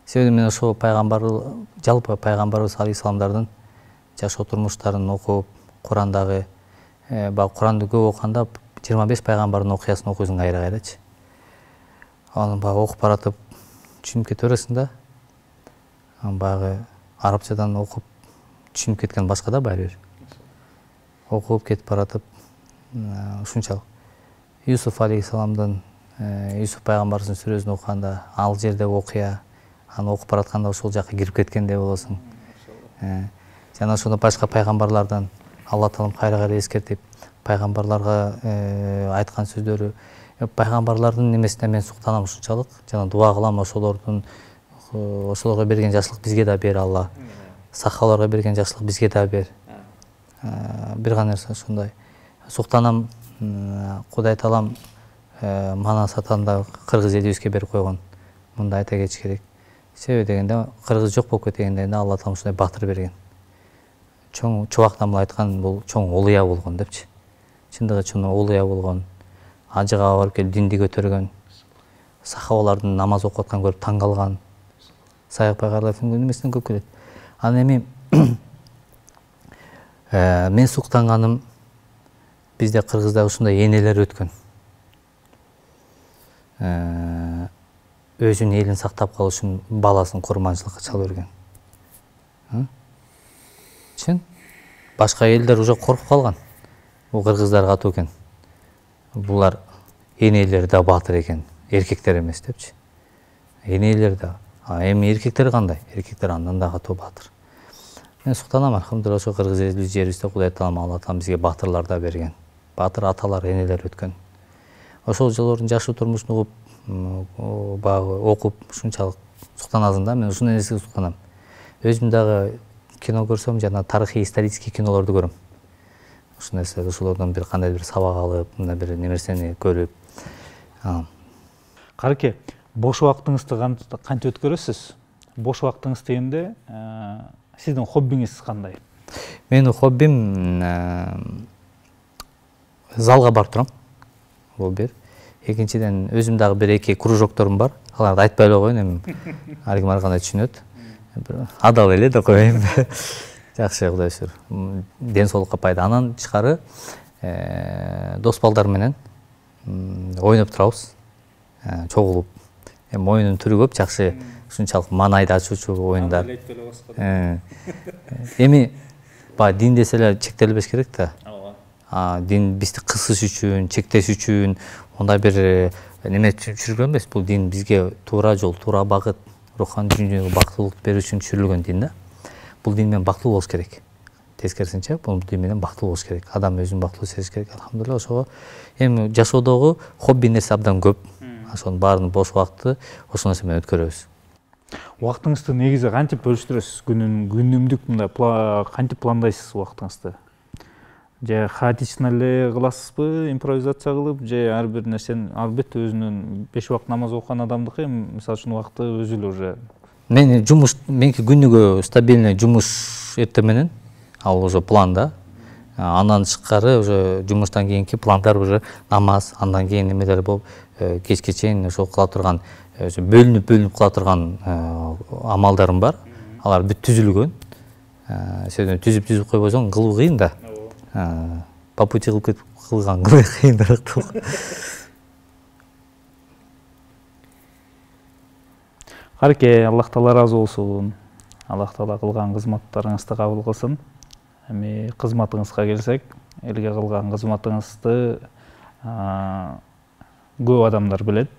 Себеби мен ошол жалпы пайгамбарыбыз алейхисаламдардын жашоо турмуштарын окуп, Курандагы, Куранды көп окуганда 25 пайгамбардын окуясын окуйсуң кайра-кайрачы. Аны окуп баратып түшүнүп кете бересиң да. Баягы арабчадан окуп түшүнүп кеткен башка да баары бир. Окуп кетип баратып, ушунчалык. Юсуф алейхисаламдын, Юсуф пайгамбарыбыздын сүрөсүн окуганда, ал жердеги окуя, аны окуп баратканда ошол жакка кирип кеткендей болосуң. Жана ошондо башка пайгамбарлардан Алла Таалам кайра-кайра эскертип, пайгамбарларга айткан сөздөрү, пайгамбарлардын немесине мен суктанам ушунчалык, жана дуа кылам ошолорго берген жакшылык бизге да бер Алла. Сахабаларга берген жакшылык бизге да бер. Бир гана нерсе ошондой. Суктанам, Кудай Таалам мана сатанда кыргыз элибизге берип койгон. Мында айта кетиш керек. Себеби дегенде кыргыз жок болуп кеткенде Алла Таалам ушундай батыр берген. Чоң чубактан айткан бул чоң улуя болгон депчи. Чындыгы чоң улуя болгон. Ажыга барып келип динди көтөргөн. Сахабалардын намаз окуп атканын көрүп таң калган. Сайык пайгамбарлардын немесинен көп келет. Анан эми мен суктанганым, бизде кыргызда ушундай энелер өткөн. Өзүнүн элин сактап калыш үчүн баласын курманчылыкка чалып берген. Чын? Башка элдер уже коркуп калган. Бул кыргыздар катуу экен. булар энелер да баатыр экен, эркектер эмес депчи. Энелер да. Эми эркектер кандай? Эркектер андан да катуу баатыр. Мен суктанам, алхамдулилла, ошо кыргыз жерибизде Кудай Таалам, Алла Таалам бизге баатырлар да берген. Баатыр аталар, энелер өткөн. Ошол жолдордун жакшы турмушун угуп, баягы окуп, ушунчалык суктанасың да. Мен ушундай нерсеге суктанам. Өзүм дагы кино көрсөм, жана тарыхый исторический кинолорду көрөм. Ушул нерселер, ошолордон бир кандай бир сабак алып, мындай бир нерсени көрүп. Карке, бош убактыңызды кантип өткөрөсүз? Бош убактыңыз дегенде сиздин хоббиңиз кандай? Менин хоббим залга барып турам. Бул бир. Экинчиден, өзүм дагы бир эки кружокторум бар. Аларды айтпай эле коеюн, эми ар ким ар кандай түшүнөт. Адал эле деп коеюн. Жакшы, Кудай шүр. Ден соолукка пайда. Анан тышкары дос балдар менен ойноп турабыз. Чогулуп. Эми оюнун түрү көп, жакшы, ушунчалык маанайды ачуучу оюндар. Эми баягы дин десе эле чектелбеш керек да. Дин бизди кысыш үчүн, чектеш үчүн мындай бир неме түшүрүлгөн эмес. Бул дин бизге туура жол, туура багыт, руханий дүйнөгө бактылык берүү үчүн түшүрүлгөн дин да. Бул дин менен бактылуу болуш керек. Тескерисинче, бул дин менен бактылуу болуш керек. Адам өзүн бактылуу сезиш керек. Алхамдулилла, ошого эми жашоодогу хобби нерсе абдан көп. Ошонун баарын бош убакытты ошол нерсе менен өткөрөбүз. Убактыңызды негизи кантип бөлүштүрөсүз? Күнүмдүк мындай кантип пландайсыз убактыңызды? Же хаотично эле кыласызбы, импровизация кылып, же ар бир нерсени, албетте өзүнүн 5 убакыт намаз окуган адамдыкы, мисалы үчүн убакыты өзү эле уже. Меники күнүгө стабильный жумуш эртең менен, ал уже планда. Андан тышкары уже жумуштан кийинки пландар уже намаз, андан кийин немелер болуп, кечке чейин ошол кыла турган, бөлүнүп кыла турган амалдарым бар. Алар бүт түзүлгөн. Сен түзүп койбосоң кылуу кыйын да. По пути кылган кыйыныраак. Карке, Аллах Таала ыраазы болсун. Аллах Таала кылган кызматтарыңызды кабыл кылсын. Эми кызматыңызга келсек, элге кылган кызматыңызды көп адамдар билет.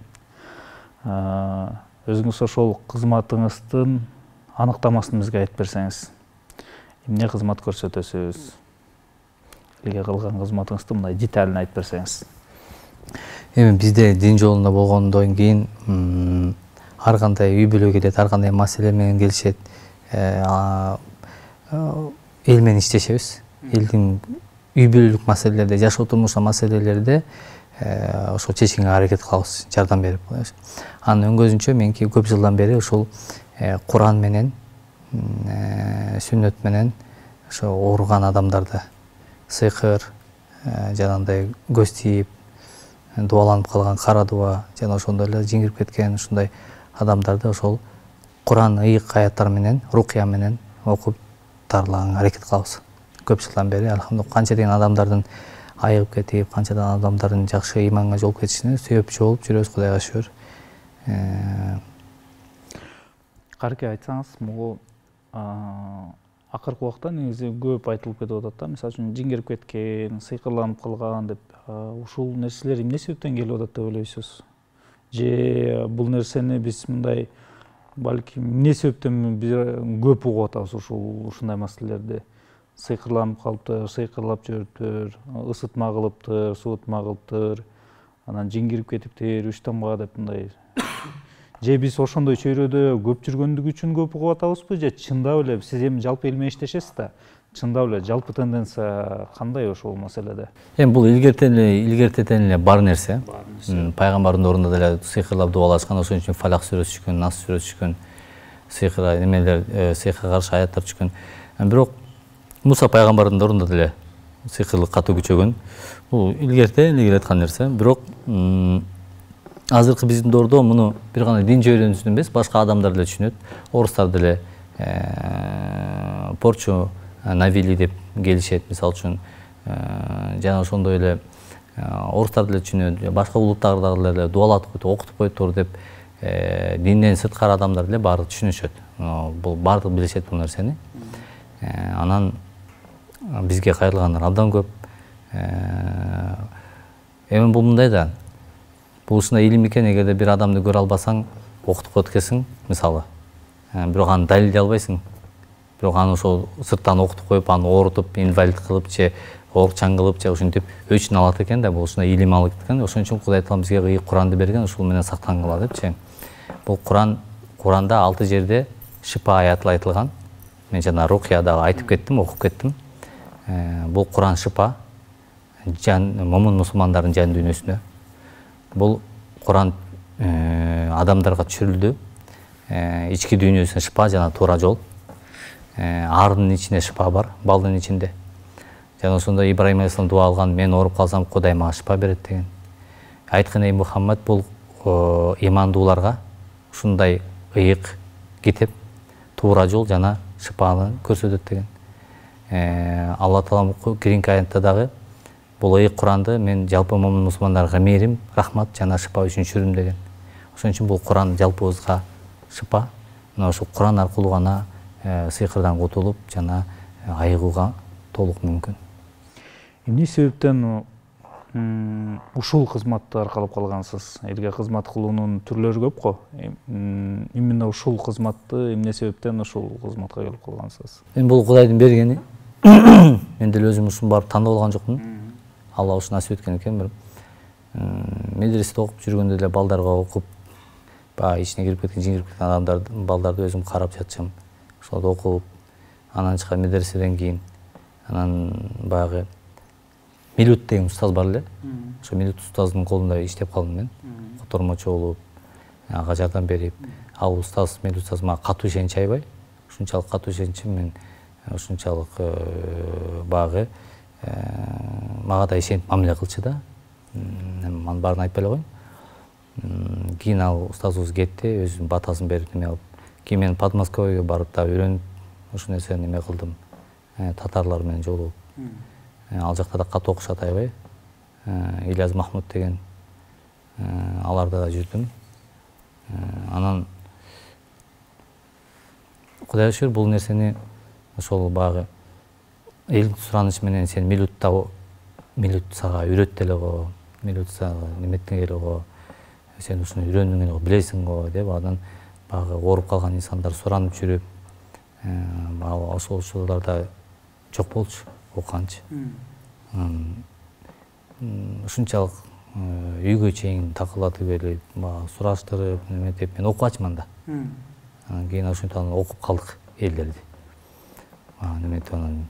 Өзүңүз ошол кызматыңыздын аныктамасын бизге айтып берсеңиз. Эмне кызмат көрсөтөсүз? Элге кылган кызматыңызды мындай деталын айтып берсеңиз. Эми бизде дин жолунда болгондон кийин ар кандай үй бүлө келет, ар кандай маселе менен келишет. Эл менен иштешебиз. Элдин үй бүлөлүк маселелерде, жашоо турмуш маселелерде ошол чечкенге аракет кылабыз, жардам берип. Анын өңгөзүнчө менки көп жылдан бери ушул Куран менен, сүннөт менен ошо ооруган адамдарды, сыйкыр, жанагындай көз тийип, дубаланып калган кара дуба, жана ошондой эле жиңирип кеткен ушундай адамдарды ошол Куран ыйык аяттар менен, рукия менен окуп дарылаганга аракет кылабыз. Көп жылдан бери алхамдулилла канча деген адамдардын айыгып кетип, канчадан адамдардын жакшы иманга жолуп кетишине себепчи болуп жүрөбүз, Кудайга шүгүр. Карке, айтсаңыз, могу акыркы убакта негизи көп айтылып кетип атат да. Мисалы үчүн жиңирип кеткен, сыйкырланып калган деп. Ушул нерселер эмне себептен келип атат деп ойлойсуз? Же бул нерсени биз мындай балким эмне себептен көп угуп атабыз ушундай маселелерди? Сыйкырланып калыптыр, сыйкырлап жүрүптүр, ысытма кылыптыр, суутма кылыптыр, анан жиңирип кетиптир, үч тамга деп мындай. Же биз ошондой чөйрөдө көп жүргөндүгү үчүн көп угуп атабызбы, же чындап эле сиз эми жалпы эл менен иштешесиз да? Чындап эле жалпы тенденция кандай ошол маселеде? Эми бул илгертен эле бар нерсе. Пайгамбардын ордунда деле сыйкырлап дубалашкан, ошон үчүн Фалак сүрөсү түшкөн, Нас сүрөсү түшкөн, сыйкырга немелер, сыйкырга каршы аяттар түшкөн. Бирок Муса пайгамбардын ордунда деле сыйкырлык катуу күчөгөн. Бул илгертен эле келаткан нерсе. Бирок азыркы биздин доордо муну бир гана дин жөнүндө эмес, башка адамдар деле түшүнөт. Орустар деле порчу навили деп келишет, мисалы үчүн. Жана ошондой эле орустар деле түшүнөт, башка улуттардагы деле дуалатып коет, окутуп коеттур деп динден сырткары адамдар деле баары түшүнүшөт. Бул баардыгы билишет бул нерсени. Анан бизге кайрылгандар абдан көп. Эми бул мындай да, бул ушундай илим экен, эгерде бир адамды көрө албасаң, окутуп өткөсүң, мисалы. Бирок аны далилдей албайсың. Бирок аны ошол сырттан окутуп коюп, аны оорутуп, инвалид кылып же оорукчан кылып же ушинтип өчүн алат экен да, бул ушундай илим алат экен. Ошон үчүн Кудай Таала бизге ыйык Куранды берген, ушул менен сактангыла депчи. Бул Куранда 6 жерде шипа аяты айтылган. Мен жана рукуядагы айтып кеттим, окуп кеттим. Бул Куран шипа, момун мусулмандардын жан дүйнөсүнө. Бул Куран адамдарга түшүрүлдү. Ички дүйнөсүнө шипа жана туура жол. Ардын ичинде шипа бар, балдын ичинде. Жана ошондо Ибрайым алейхисалам дуа алган, мен ооруп калсам Кудай мага шипа берет деген. Айткан эй Мухаммад, бул имандууларга ушундай ыйык китеп, туура жол жана шипаны көрсөтөт деген. Алла Таала кийинки аятта дагы бул ыйык Куранды мен жалпы момун мусулмандарга мээрим, рахмат жана шипа үчүн түшүрдүм деген. Ошон үчүн бул Куран жалпыбызга шипа. Мына ошол Куран аркылуу гана сыйкырдан кутулуп жана айыгууга толук мүмкүн. Эмне себептен ушул кызматты аркалап калгансыз? Элге кызмат кылуунун түрлөрү көп го. Именно ушул кызматты эмне себептен ушул кызматка келип калгансыз? Мен бул Кудайдын бергени. Мен деле өзүм ушун барып тандап алган жокмун. Алла ушуну насип эткен экен. Бир медреседе окуп жүргөндө деле балдарга окуп, баягы ичине кирип кеткен, жиңирип кеткен адамдарды, балдарды өзүм карап жатчам. Ошолорду окуп, анан чыккан медреседен кийин, анан баягы Милют деген устаз бар эле. Ошо Милют устаздын колунда иштеп калдым мен. Котормочу болуп, ага жардам берип, ал устаз, Милют устаз мага катуу ишенчи аябай. Ушунчалык катуу ишенчи, мен ушунчалык баягы мага да ишенип мамиле кылчу да. Анын баарын айтпай эле коеюн. Кийин ал устазыбыз кетти, өзүнүн батасын берип неме алып. Кийин мен Подмосковьеге барып да үйрөнүп, ушул нерсени неме кылдым. Татарлар менен жолугуп. Ал жакта да катуу окушат аябай. Ильяз Махмуд деген аларда да жүрдүм. Анан Кудайга шүгүр бул нерсени ошол баягы элдин суранычы менен сен Милют сага үйрөттү эле го, Милют сага неметтен эле го, сен ушуну үйрөндүң эле го, билесиң го деп анан баягы ооруп калган инсандар суранып жүрүп, ошол учурларда жок болчу окуганчы. Ушунчалык үйгө чейин такылатып эле сураштырып неметип мен окубачмын да. Анан кийин ошентип анан окуп калдык элдерди. Неметип анан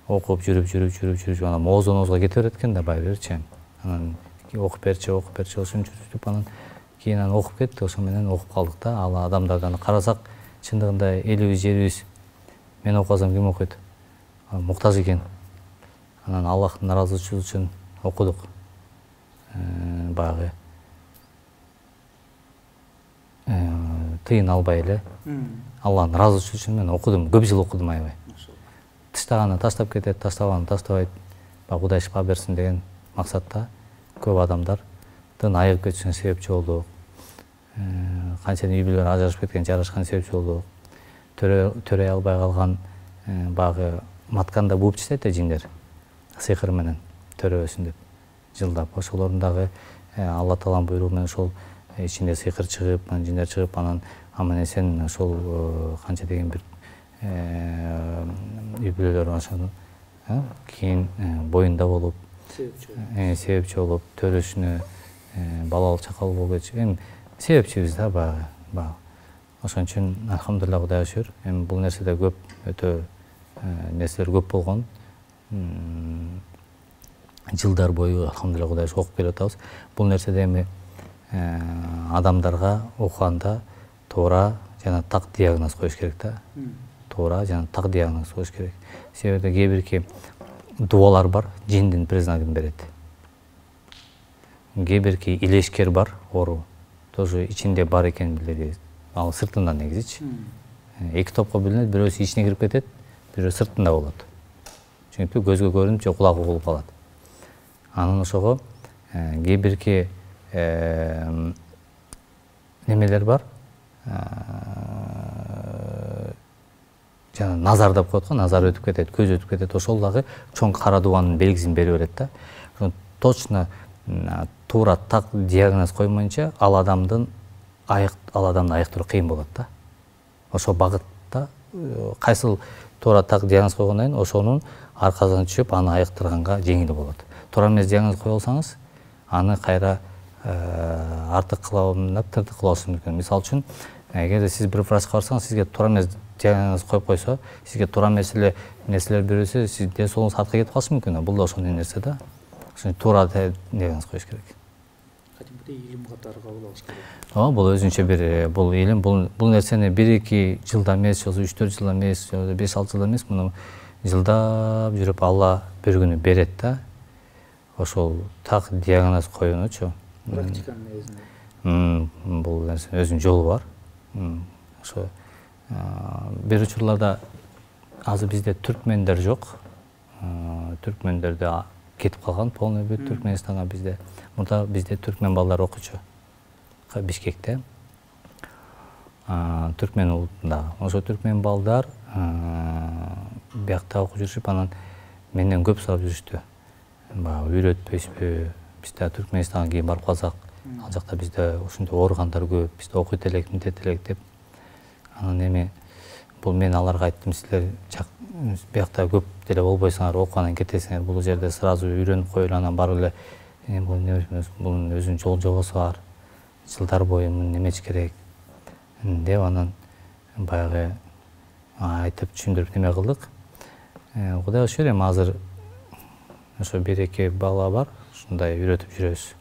окуп жүрүп анан моозонозго кете берет экен да байбирчи. Анан окуп берчи ошон жүрүп анан кийин анан окуп кетти, ошо менен окуп калдык да. Ал адамдарды карасак чындыгында элибиз жерибиз мен окусам ким окуйт? Муктаж экен. Анан Аллахтын ыраазычылыгы үчүн окудук. Баягы тыйын албай эле. Аллахтын ыраазычылыгы үчүн мен окудум, көп жыл окудум аябай. Таштаганы таштап кетет, таштабаганы таштабайт. Кудай шипа берсин деген максатта көп адамдардын айыгып кетишине себепчи болдук. Канча үй бүлөлөр ажырашып кеткен, жарашкан себепчи болдук. Төрөй албай калган баягы матканда бууп чечет жиндер. Сыйкыр менен төрөбөсүн деп жылдап. Ошолордун дагы Алла Тааланын буйругу менен ошол ичинде сыйкыр чыгып, жиндер чыгып, анан аман эсен ошол канча деген бир үй бүлөлөр ошону кийин боюнда болуп, себепчи болуп, төрөшүнө, балалуу чакалуу болуп кетиши. Эми себепчибиз да баягы. Ошон үчүн алхамдулилля Кудайга шүгүр. Эми бул нерседе көп, өтө нерселер көп болгон. Жылдар бою алхамдулилля Кудайга шүгүр окуп келе атабыз. Бул нерседе эми адамдарга окуганда туура жана так диагноз коюш керек да. Туура жана так диагноз коюш керек. Себеби кээ бирки дубалар бар, жиндин признагын берет. Кээ бирки илешкер бар, оору. Тоже ичинде бар экен билет. Ал сыртынан негизичи. Эки топко бөлүнөт, бирөөсү ичине кирип кетет, бирөө сыртында болот. Чүнүктүү көзгө көрүнүп же кулак угулуп калат. Анан ошого кээ бирки немелер бар. Жана назар деп коет го, назар өтүп кетет, көз өтүп кетет. Ошол дагы чоң кара дубанын белгисин берип берет да. Точно туура так диагноз коймойнча ал адамды айыктыруу кыйын болот да. Ошол багытта кайсыл туура так диагноз койгондон кийин ошонун аркасына түшүп аны айыктырганга жеңил болот. Туура эмес диагноз кое алсаңыз, аны кайра артык кылабын деп тыртык кылабыз мүмкүн. Мисалы үчүн, эгерде сиз бир врачка барсаңыз, сизге туура эмес диагноз коюп койсо, сизге туура нерселер берилсе, сиздин ден соолугуңуз артка кетип калышы мүмкүн. Бул да ошондой нерсе да. Ошон туура диагноз коюш керек. Кадимгидей илим катары кабыл алыш керек. Бул өзүнчө бир бул илим, бул нерсени 1-2 жылда эмес, же 3-4 жылда эмес, же 5-6 жылда эмес, муну жылдап жүрүп Алла бир күнү берет да. Ошол так диагноз коюнучу. Практиканын негизинде. Бул нерсенин өзүнүн жолу бар. Ошо бир учурларда азыр бизде түркмендер жок. Түркмендерде кетип калган полный бүт Түркменистанга бизде. Мурда бизде түркмен балдар окуучу. Бишкекте. Түркмен улутунда. Ошо түркмен балдар биякта окуп жүрүшүп, анан менден көп сурап жүрүштү. Баягы үйрөтпөйсүзбү? Бизде Түркменистанга кийин барып калсак, ал жакта бизде ушундай ооругандар көп, бизде окуйт элек, мынтет элек деп. Анан эми бул мен аларга айттым, силер биякта көп деле болбойсуңар, окугандан кетесиңер, бул жерде сразу үйрөнүп коелу, анан барып эле бунун өзүнүн жол жобосу бар. Жылдар бою немеч керек деп анан баягы айтып түшүндүрүп неме кылдык. Кудайга шүгүр, эми азыр ошо 1-2 бала бар, ушундай үйрөтүп жүрөбүз.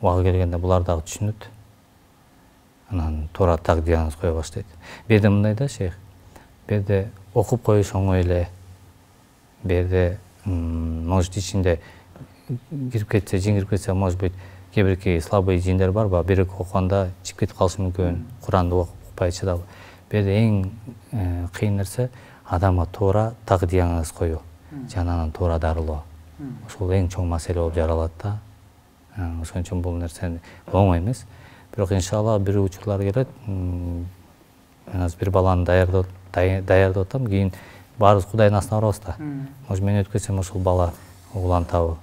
Убагы келгенде булар дагы түшүнөт. Анан туура так диагноз кое баштайт. Бу жерде мындай да, шейх. Бу жерде окуп коюш оңой эле. Бу жерде может ичинде кирип кетсе, жин кирип кетсе, может быть, кээ-бирки слабый жиндер барбы, бир-эки окуганда чыгып кетип калышы мүмкүн. Куранды окупай чыдабы. Бу жерде эң кыйын нерсе адамга туура так диагноз коюу, жана анан туура дарылоо. Ошол эң чоң маселе болуп жаралат да. Ошон үчүн бул нерсе оңой эмес. Бирок иншалла бир учурлар келет. Мен азыр бир баланы даярдап атам, кийин баарыбыз Кудайдын астына барабыз да. Может, мен өтүп кетсем ошол бала улантабы.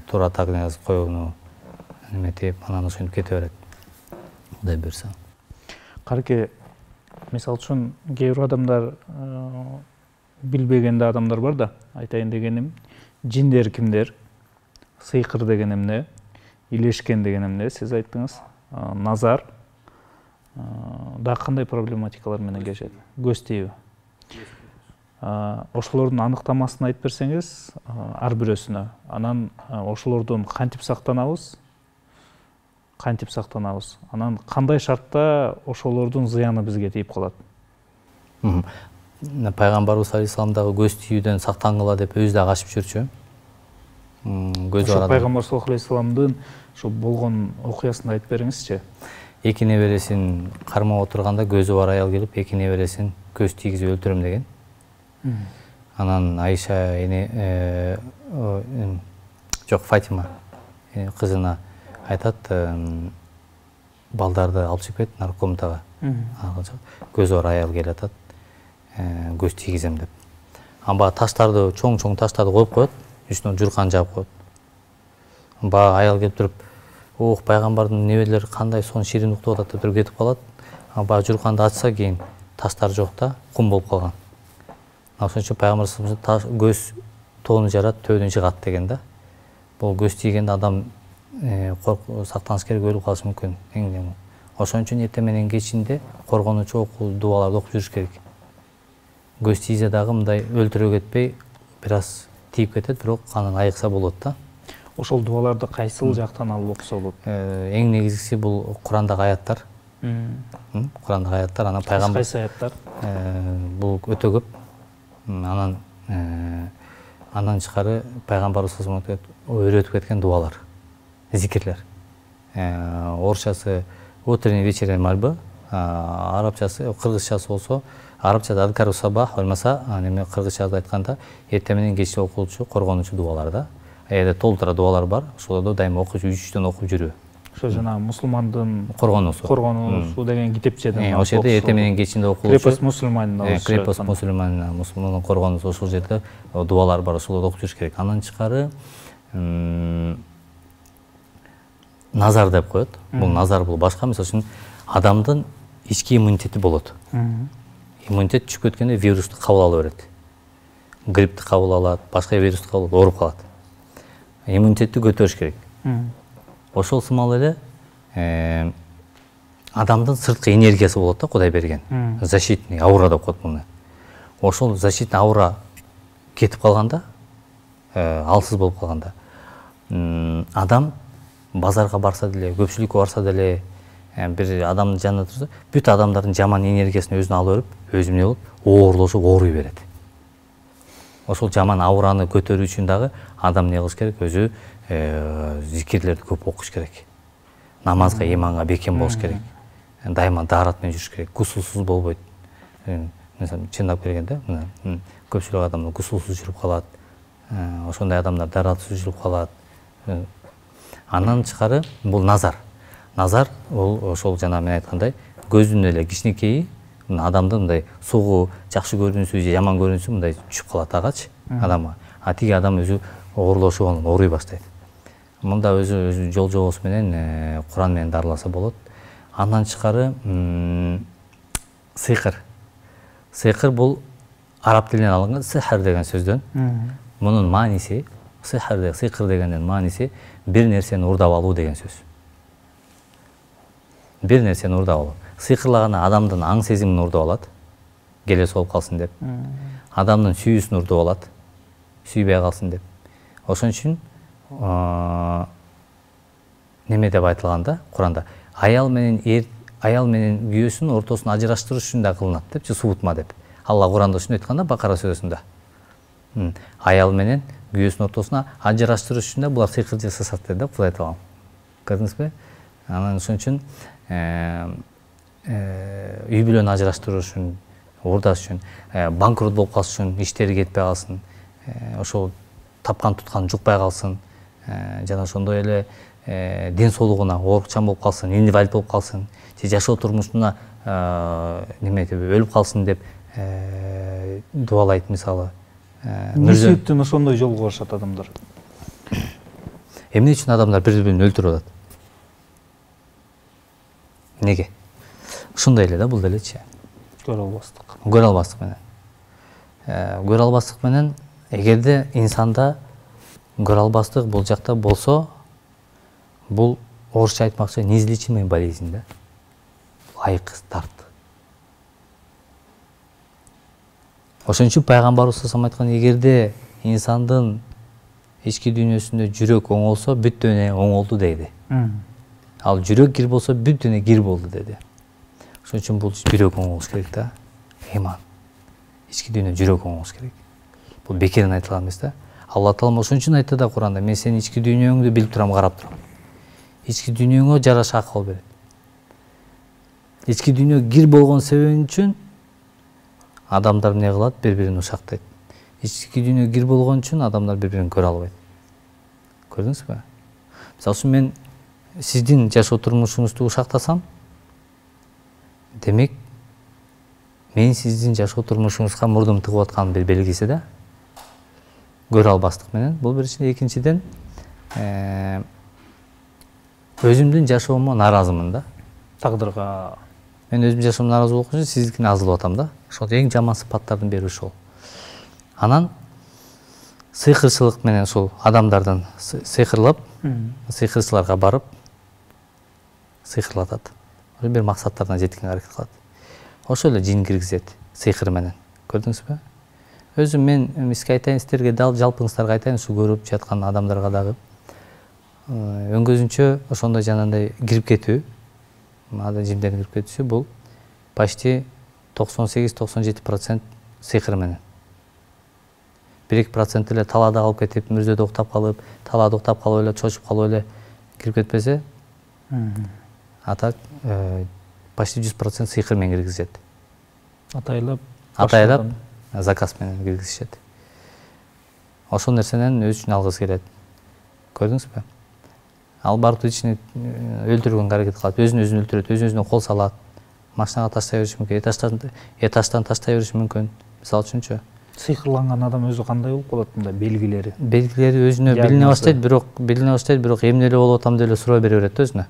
Туура так диагноз коюуну эметип, анан ошентип кете берет. Кудай буйрса. Карке, мисалы үчүн кээ бир адамдар билбеген да адамдар бар да. Айтайын дегеним, жиндер кимдер? Сыйкыр деген эмне? Илешкен деген эмне? Сиз айттыңыз. Назар. Дагы кандай проблематикалар менен келишет? Көз тийби. Ошолордун аныктамасын айтып берсеңиз, ар бирөөсүнө. Анан ошолордон кантип сактанабыз? Анан кандай шартта ошолордун зыяны бизге тийип калат? Пайгамбарыбыз алейхисалам дагы көз тийүүдөн сактангыла деп өзү да качып жүрчү. Пайгамбар саллаллаху алейхи вассаламдын ошо болгон окуясын айтып бериңизчи. Эки небересин кармап отурганда көзү бар аял келип, эки небересин көз тийгизип өлтүрөм деген. Анан Айша Фатима кызына айтат, балдарды алып чыгып кет наркомтага. Көзү бар аял келип атат, көз тийгизем деп. Баягы таштарды, чоң таштарды коюп коет, үстүнө журкан жаап коет. Баягы аял келип туруп, ох, пайгамбардын небелери кандай сон ширин уктуп атат деп туруп кетип калат. Баягы журканды ачса кийин таштар жок да, кум болуп калган. Ошон үчүн пайгамбар көз тоону жарат, төбөдөн чыгат деген да. Бул көз тийгенде адам сактаныш керек, өлүп калышы мүмкүн. Ошон үчүн эртең менен кечинде коргонуучу дуаларды окуп жүрүш керек. Көз тийзе дагы мындай өлтүрө кетпей, бир аз тийип кетет, бирок анан айыкса болот да. Ошол дуаларды кайсыл жактан алып окуса болот? Эң негизгиси бул Курандагы аяттар. Курандагы аяттар, анан пайгамбар. Кайсы аяттар? Бул өтө көп. Андан тышкары пайгамбарыбыз үйрөтүп кеткен дуалар, зикирлер. Орусчасы утренний вечерний мольба, арабчасы, кыргызчасы болсо, арабчада адкару сабах, болмаса, кыргызчада айтканда эртең менен кечте окулчу коргонуучу дуалар да. Эгерде толтура дуалар бар, ошолорду дайыма окуп, үчтөн окуп жүрүү. Ошо жана мусулмандын коргонуусу деген китепчеден. Ошол жерде эртең менен кечинде окулчу. Крепость мусульманина. Крепость мусульманина, мусулмандын коргонуусу, ошол жерде дуалар бар, ошолорду окуп жүрүш керек. Андан тышкары назар деп коет. Бул назар бул башка, мисалы үчүн адамдын ички иммунитети болот. Иммунитет түшүп кеткенде вирусту кабыл ала берет. Грипти кабыл алат, башка вирусту кабыл алып ооруп калат. Иммунитетти көтөрүш керек. Ошол сымал эле адамдын сырткы энергиясы болот да, Кудай берген. Защитный аура деп коет муну. Ошол защитный аура кетип калганда, алсыз болуп калганда, адам базарга барса деле, көпчүлүккө барса деле, бир адамдын жанында турса, бүт адамдардын жаман энергиясын өзүнө ала берип, өзү эмне болуп, оорлошуп, ооруй берет. Ошол жаман аураны көтөрүү үчүн дагы адам эмне кылыш керек? Өзү зикирлерди көп окуш керек. Намазга, иманга бекем болуш керек. Дайыма даарат менен жүрүш керек. Гусулсуз болбойт. Мисалы чындап келгенде, көпчүлүк адамдар гусулсуз жүрүп калат. Ошондой адамдар дааратсыз жүрүп калат. Андан тышкары бул назар. Назар бул ошол жана мен айткандай, көздүн эле кичинекейи адамдын мындай сугу, жакшы көрүнүшү же жаман көрүнүшү мындай түшүп калат агачы адамга. А тиги адам өзү оорлошуп анан ооруй баштайт. Мында өзү жол жобосу менен Куран менен дарыласа болот. Андан тышкары сыйкыр. Сыйкыр бул араб тилинен алынган сихр деген сөздөн. Мунун мааниси, сыйкыр дегендин мааниси бир нерсени урдап алуу деген сөз. Бир нерсени урдап алуу. Сыйкырлаганда адамдын аң сезимин урдап алат, келес болуп калсын деп. Адамдын сүйүүсүн урдап алат, сүйбөй калсын деп. Ошон үчүн неме деп айтылганда Куранда аял менен күйөөсүнүн ортосун ажыраштырыш үчүн да кылынат депчи, субутма деп. Алла Куранда ушуну айтканда Бакара сүрөсүндө. Аял менен күйөөсүнүн ортосуна ажыраштырыш үчүн да булар сыйкыр жасашат деп Кудай айталган. Көрдүңүзбү? Анан ошон үчүн үй бүлөнү ажыраштыруу үчүн, урдаш үчүн, банкрот болуп калыш үчүн, иштери кетпей калсын, ошол тапкан туткан жукпай калсын, жана ошондой эле ден соолугуна оорукчан болуп калсын, инвалид болуп калсын, же жашоо турмушуна неме деп өлүп калсын деп дубалайт мисалы. Эмне себептен ошондой жолго барышат адамдар? Эмне үчүн адамдар бири-бирин өлтүрүп атат? Неге? Ушундай эле да, бул делечи. Көрө албастык. Көрө албастык менен. Көрө албастык менен, эгерде инсанда көрө албастык бул жакта болсо, бул орусча айтмакчы неизлечимый болезнь да. Айкыз тарт. Ошон үчүн пайгамбарыбыз айткан, эгерде инсандын ички дүйнөсүндө жүрөк оңолсо, бүт дүйнө оңолду дейди. Ал жүрөк кир болсо, бүт дүйнө кир болду деди. Ошон үчүн бул жүрөк оңолуш керек да. Иман. Ички дүйнө жүрөк оңолуш керек. Бул бекерден айтылган эмес да. Алла Таала ошон үчүн айтты да Куранда, мен сенин ички дүйнөңдү билип турам, карап турам. Ички дүйнөңө жараша акыл берет. Ички дүйнө кир болгон себеби үчүн адамдар эмне кылат? Бири-бирин ушактайт. Ички дүйнө кир болгон үчүн адамдар бири-бирин көрө албайт. Көрдүңүзбү? Мисалы үчүн мен сиздин жашоо турмушуңузду ушактасам, демек мен сиздин жашоо турмушуңузга мурдум тыгып аткан бир белгиси да. Көрө албастык менен. Бул биринчиден, экинчиден өзүмдүн жашоомо нааразымын да. Тагдырга мен өзүмдүн жашоомдо нааразы болгон үчүн сиздикине азылып атам да. Ошол эң жаман сыпаттардын бири ошол. Анан сыйкырчылык менен ушул адамдардан сыйкырлап, сыйкырчыларга барып сыйкырлатат. Бир максаттарына жеткенге аракет кылат. Ошол эле жин киргизет сыйкыр менен. Көрдүңүзбү? Өзүм мен эмеске айтайын, сиздерге жалпыңыздарга айтайын, ушу көрүп жаткан адамдарга дагы өңгөзүнчө ошондой жанагындай кирип кетүү, жиндердин кирип кетүүсү бул почти 98-97% сыйкыр менен. 1-2% эле талаада калып кетип, мүрзөдө уктап калып, талаада уктап калып эле, чочуп калып эле кирип кетпесе, а так почти 100% сыйкыр менен киргизет. Атайлап заказ менен киргизишет. Ошол нерсенен өз үчүн алгысы келет. Көрдүңүзбү? Ал барып ичине өлтүргөнгө аракет кылат, өзүн өлтүрөт, өзүнө кол салат, машинага таштай бериши мүмкүн, этаждан таштай бериши мүмкүн. Мисалы үчүнчү. сыйкырланган адам өзү кандай болуп калат, мындай белгилери? Белгилери өзүнө билине баштайт, бирок эмне эле болуп атам деп эле суроо бере берет да өзүнө.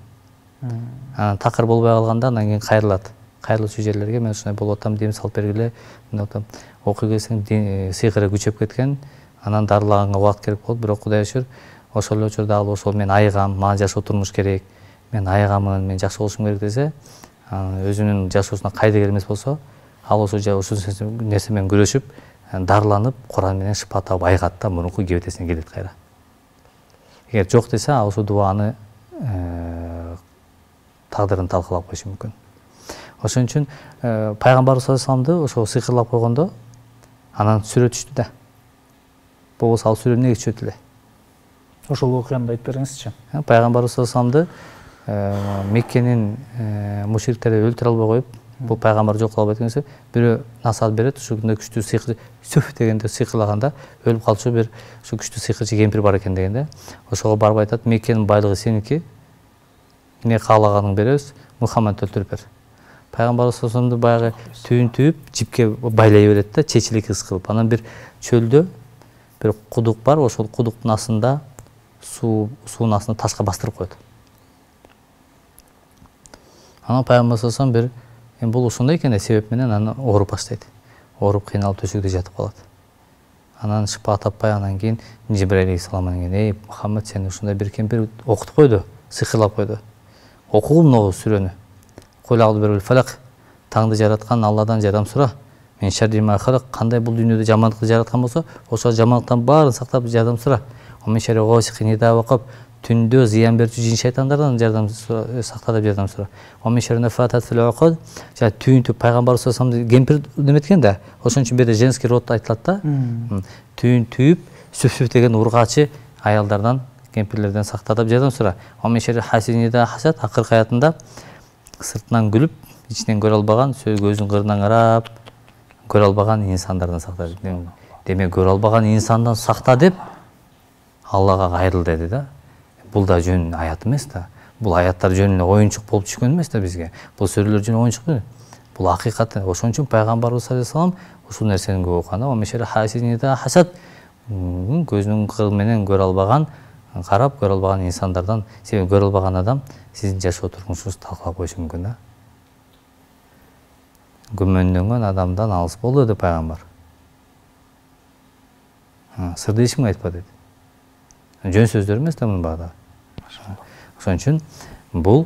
Анан такыр болбой калганда андан кийин кайрылат. Кайрылуучу жерлерге мен ушундай болуп атам, дем салып бергиле, мындай атам. Окуй келсең сыйкыры күчөп кеткен, анан дарылаганга убакыт керек болот, бирок Кудайга шүгүр, ошол эле учурда ал ошол мен айыгам, мага жашоо турмуш керек, мен айыгамын, мен жакшы болушум керек десе, өзүнүн жашоосуна кайда эмес болсо, ал ошол нерсе менен күрөшүп, дарыланып, Куран менен шыпа таап айыгат да, мурунку кебетесине келет кайра. Эгер жок десе, ал ошол дубаны тагдырын талкалап коюшу мүмкүн. Ошон үчүн пайгамбарыбыз саллаллаху алейхи вассаламды ошол сыйкырлап койгондо анан сүрө түштү да. Болбосо ал сүрө эмнеге түшөт эле? Ошол окуяны айтып бериңизчи. Пайгамбарыбыз саллаллаху алейхи вассаламды Меккенин мушриктери өлтүрө албай коюп, бул пайгамбар жок кыла албайт экенсе, бирөө насаат берет, ушундой күчтүү сыйкыр сүф дегенде сыйкырлаганда өлүп калчу бир ушу күчтүү сыйкырчы кемпир бар экен дегенде, ошого барып айтат, Меккенин байлыгы сеники, эмне каалаганың беребиз, Мухаммадты өлтүрүп бер. Пайгамбарыбыз саллаллаху алейхи вассаламды баягы түйүн түйүп, жипке байлай берет да, чечилик ыс кылып. Анан бир чөлдө бир кудук бар, ошол кудуктун астында суунун астына ташка бастырып коет. Анан пайгамбар саллаллаху алейхи вассалам бир бул ушундай экен себеп менен аны ооруп баштайт. Ооруп кыйналып төшөгүдө жатып калат. Анан шыпа таппай, анан кийин Жибраил алейхиссалам менен эй Мухаммад, сени ушундай бир кемпир окутуп койду, сыйкырлап койду. Окугу мына сүрөнү. Кул аъузу бираббил фалак, таңды жараткан Алладан жардам сура. Мен шарри ма халак, кандай бул дүйнөдө жамандыкты жараткан болсо, ошол жамандыктан баарын сактап жардам сура. Мен шарри госикин ида вакап, түндө зыян берүүчү жин шайтандардан жардам сакта деп жардам сура. Мен шарри нафатат фил уқад, жана түйүнтүп пайгамбарыбыз саллаллаху алейхи вассалам кемпир неметкен да. Ошон үчүн бирде женский род айтылат да. Түйүнтүп сүф деген ургачы аялдардан, кемпирлерден сакта деп жардам сура. Мен шарри хасидин ида хасад, акыркы аятында сыртынан күлүп, ичинен көрө албаган, көзүнүн кырынан карап, көрө албаган инсандардан сакта. Демек, көрө албаган инсандан сакта деп Аллага кайрыл деди да. Бул да жөн аят эмес да. Бул аяттар жөн эле оюнчук болуп түшкөн эмес да бизге. Бул сүрөлөр жөн оюнчук эмес. Бул акыйкат. Ошон үчүн пайгамбарыбыз саллаллаху алейхи вассалам ушул нерсени көп окуганда, мешер хасидида хасад, көзүнүн кыры менен көрө албаган, карап көрө албаган инсандардан, себеби көрө албаган адам сиздин жашоо турмушуңузду талкалап коюшу мүмкүн да. Күмөндөнгөн адамдан алыс бол деди пайгамбар. Сырды эч кимге айтпа деди. Жөн сөздөр эмес да мунун баары. Ошон үчүн бул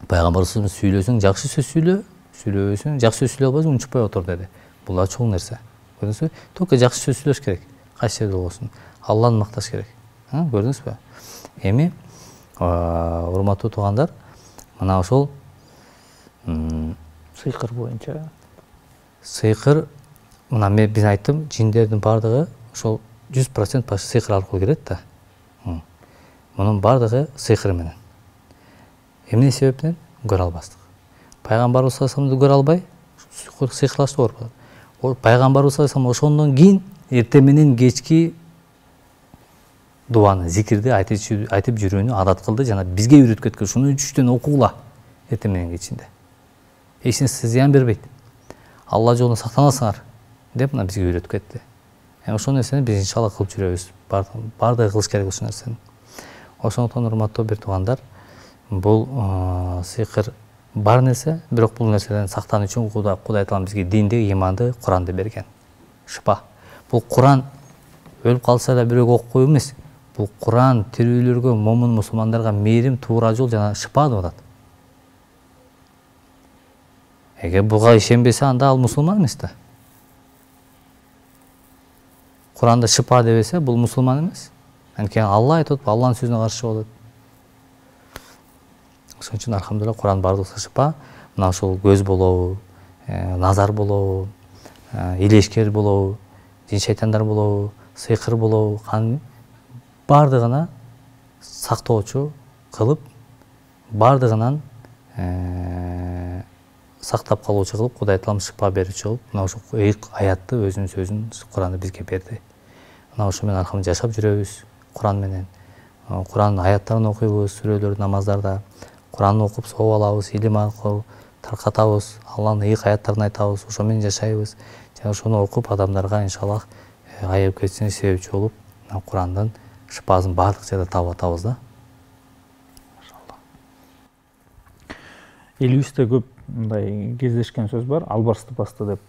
пайгамбарыбыз сүйлөсөң жакшы сөз сүйлө, сүйлөбөсөң жакшы сөз сүйлөй албайсың, унчукпай отур деди. Бул да чоң нерсе. Көрдүңүзбү? Только жакшы сөз сүйлөш керек. Кайсы жерде болсун. Алланы макташ керек. Көрдүңүзбү? Эми урматтуу туугандар, мына ошол сыйкыр боюнча. Сыйкыр, мына мен айттым, жиндердин бардыгы ошол 100% почти сыйкыр аркылуу кирет да. Мунун бардыгы сыйкыр менен. Эмне себептен? Көрө албастык. Пайгамбарыбыз саллаллаху алейхи вассаламды көрө албай, сыйкырлашты ооруп калат. Ол пайгамбарыбыз саллаллаху алейхи вассалам ошондон кийин эртең менен кечки дуаны, зикирди айтып жүрүүнү адат кылды жана бизге үйрөткөн. Шуну 3-төн окугула эртең менен кечинде. Эч нерсе зыян бербейт. Алла жолунда сактанасыңар деп мына бизге үйрөтүп кетти. Ошол нерсени биз иншалла кылып жүрөбүз. Бардыгы кылыш керек ушул нерсени. Ошондуктан урматтуу бир туугандар, бул сыйкыр бар нерсе, бирок бул нерседен сактануу үчүн Кудай Таала бизге динди, иманды, Куранды берген. Шыпа. Бул Куран өлүп калса да бирөөгө окуп коюу эмес. Бул Куран тирүүлөргө, момун мусулмандарга мээрим, туура жол жана шыпа деп атат. Эгер буга ишенбесе, анда ал мусулман эмес да. Куранда шыпа дебесе, бул мусулман эмес. Анткени Алла айтып, Алланын сөзүнө каршы болот. Ошон үчүн алхамдулилlah Куран бардыгы шыпа. Мына ошол көз болобу, назар болобу, илешкер болобу, жин шайтандар болобу, сыйкыр болобу, бардыгына сактоочу кылып, бардыгынан сактап калуучу кылып, Кудай Таалам шыпа берүүчү кылып, мына ошол аятты өзүнүн сөзүн Куранды бизге берди. Мына ошо менен алхамдулилlah жашап жүрөбүз. Куран менен. Куран аяттарын окуйбуз, сүрөлөр, намаздарда. Куранды окуп сооп алабыз, илим аркылуу таркатабыз, Алланын ыйык аяттарын айтабыз, ошо менен жашайбыз. Жана ошону окуп адамдарга иншаллах айыгып кетишине себепчи болуп, Курандын шыпасын баардык жерде таап атабыз да. Элибизде көп мындай кездешкен сөз бар, албарсты басты деп.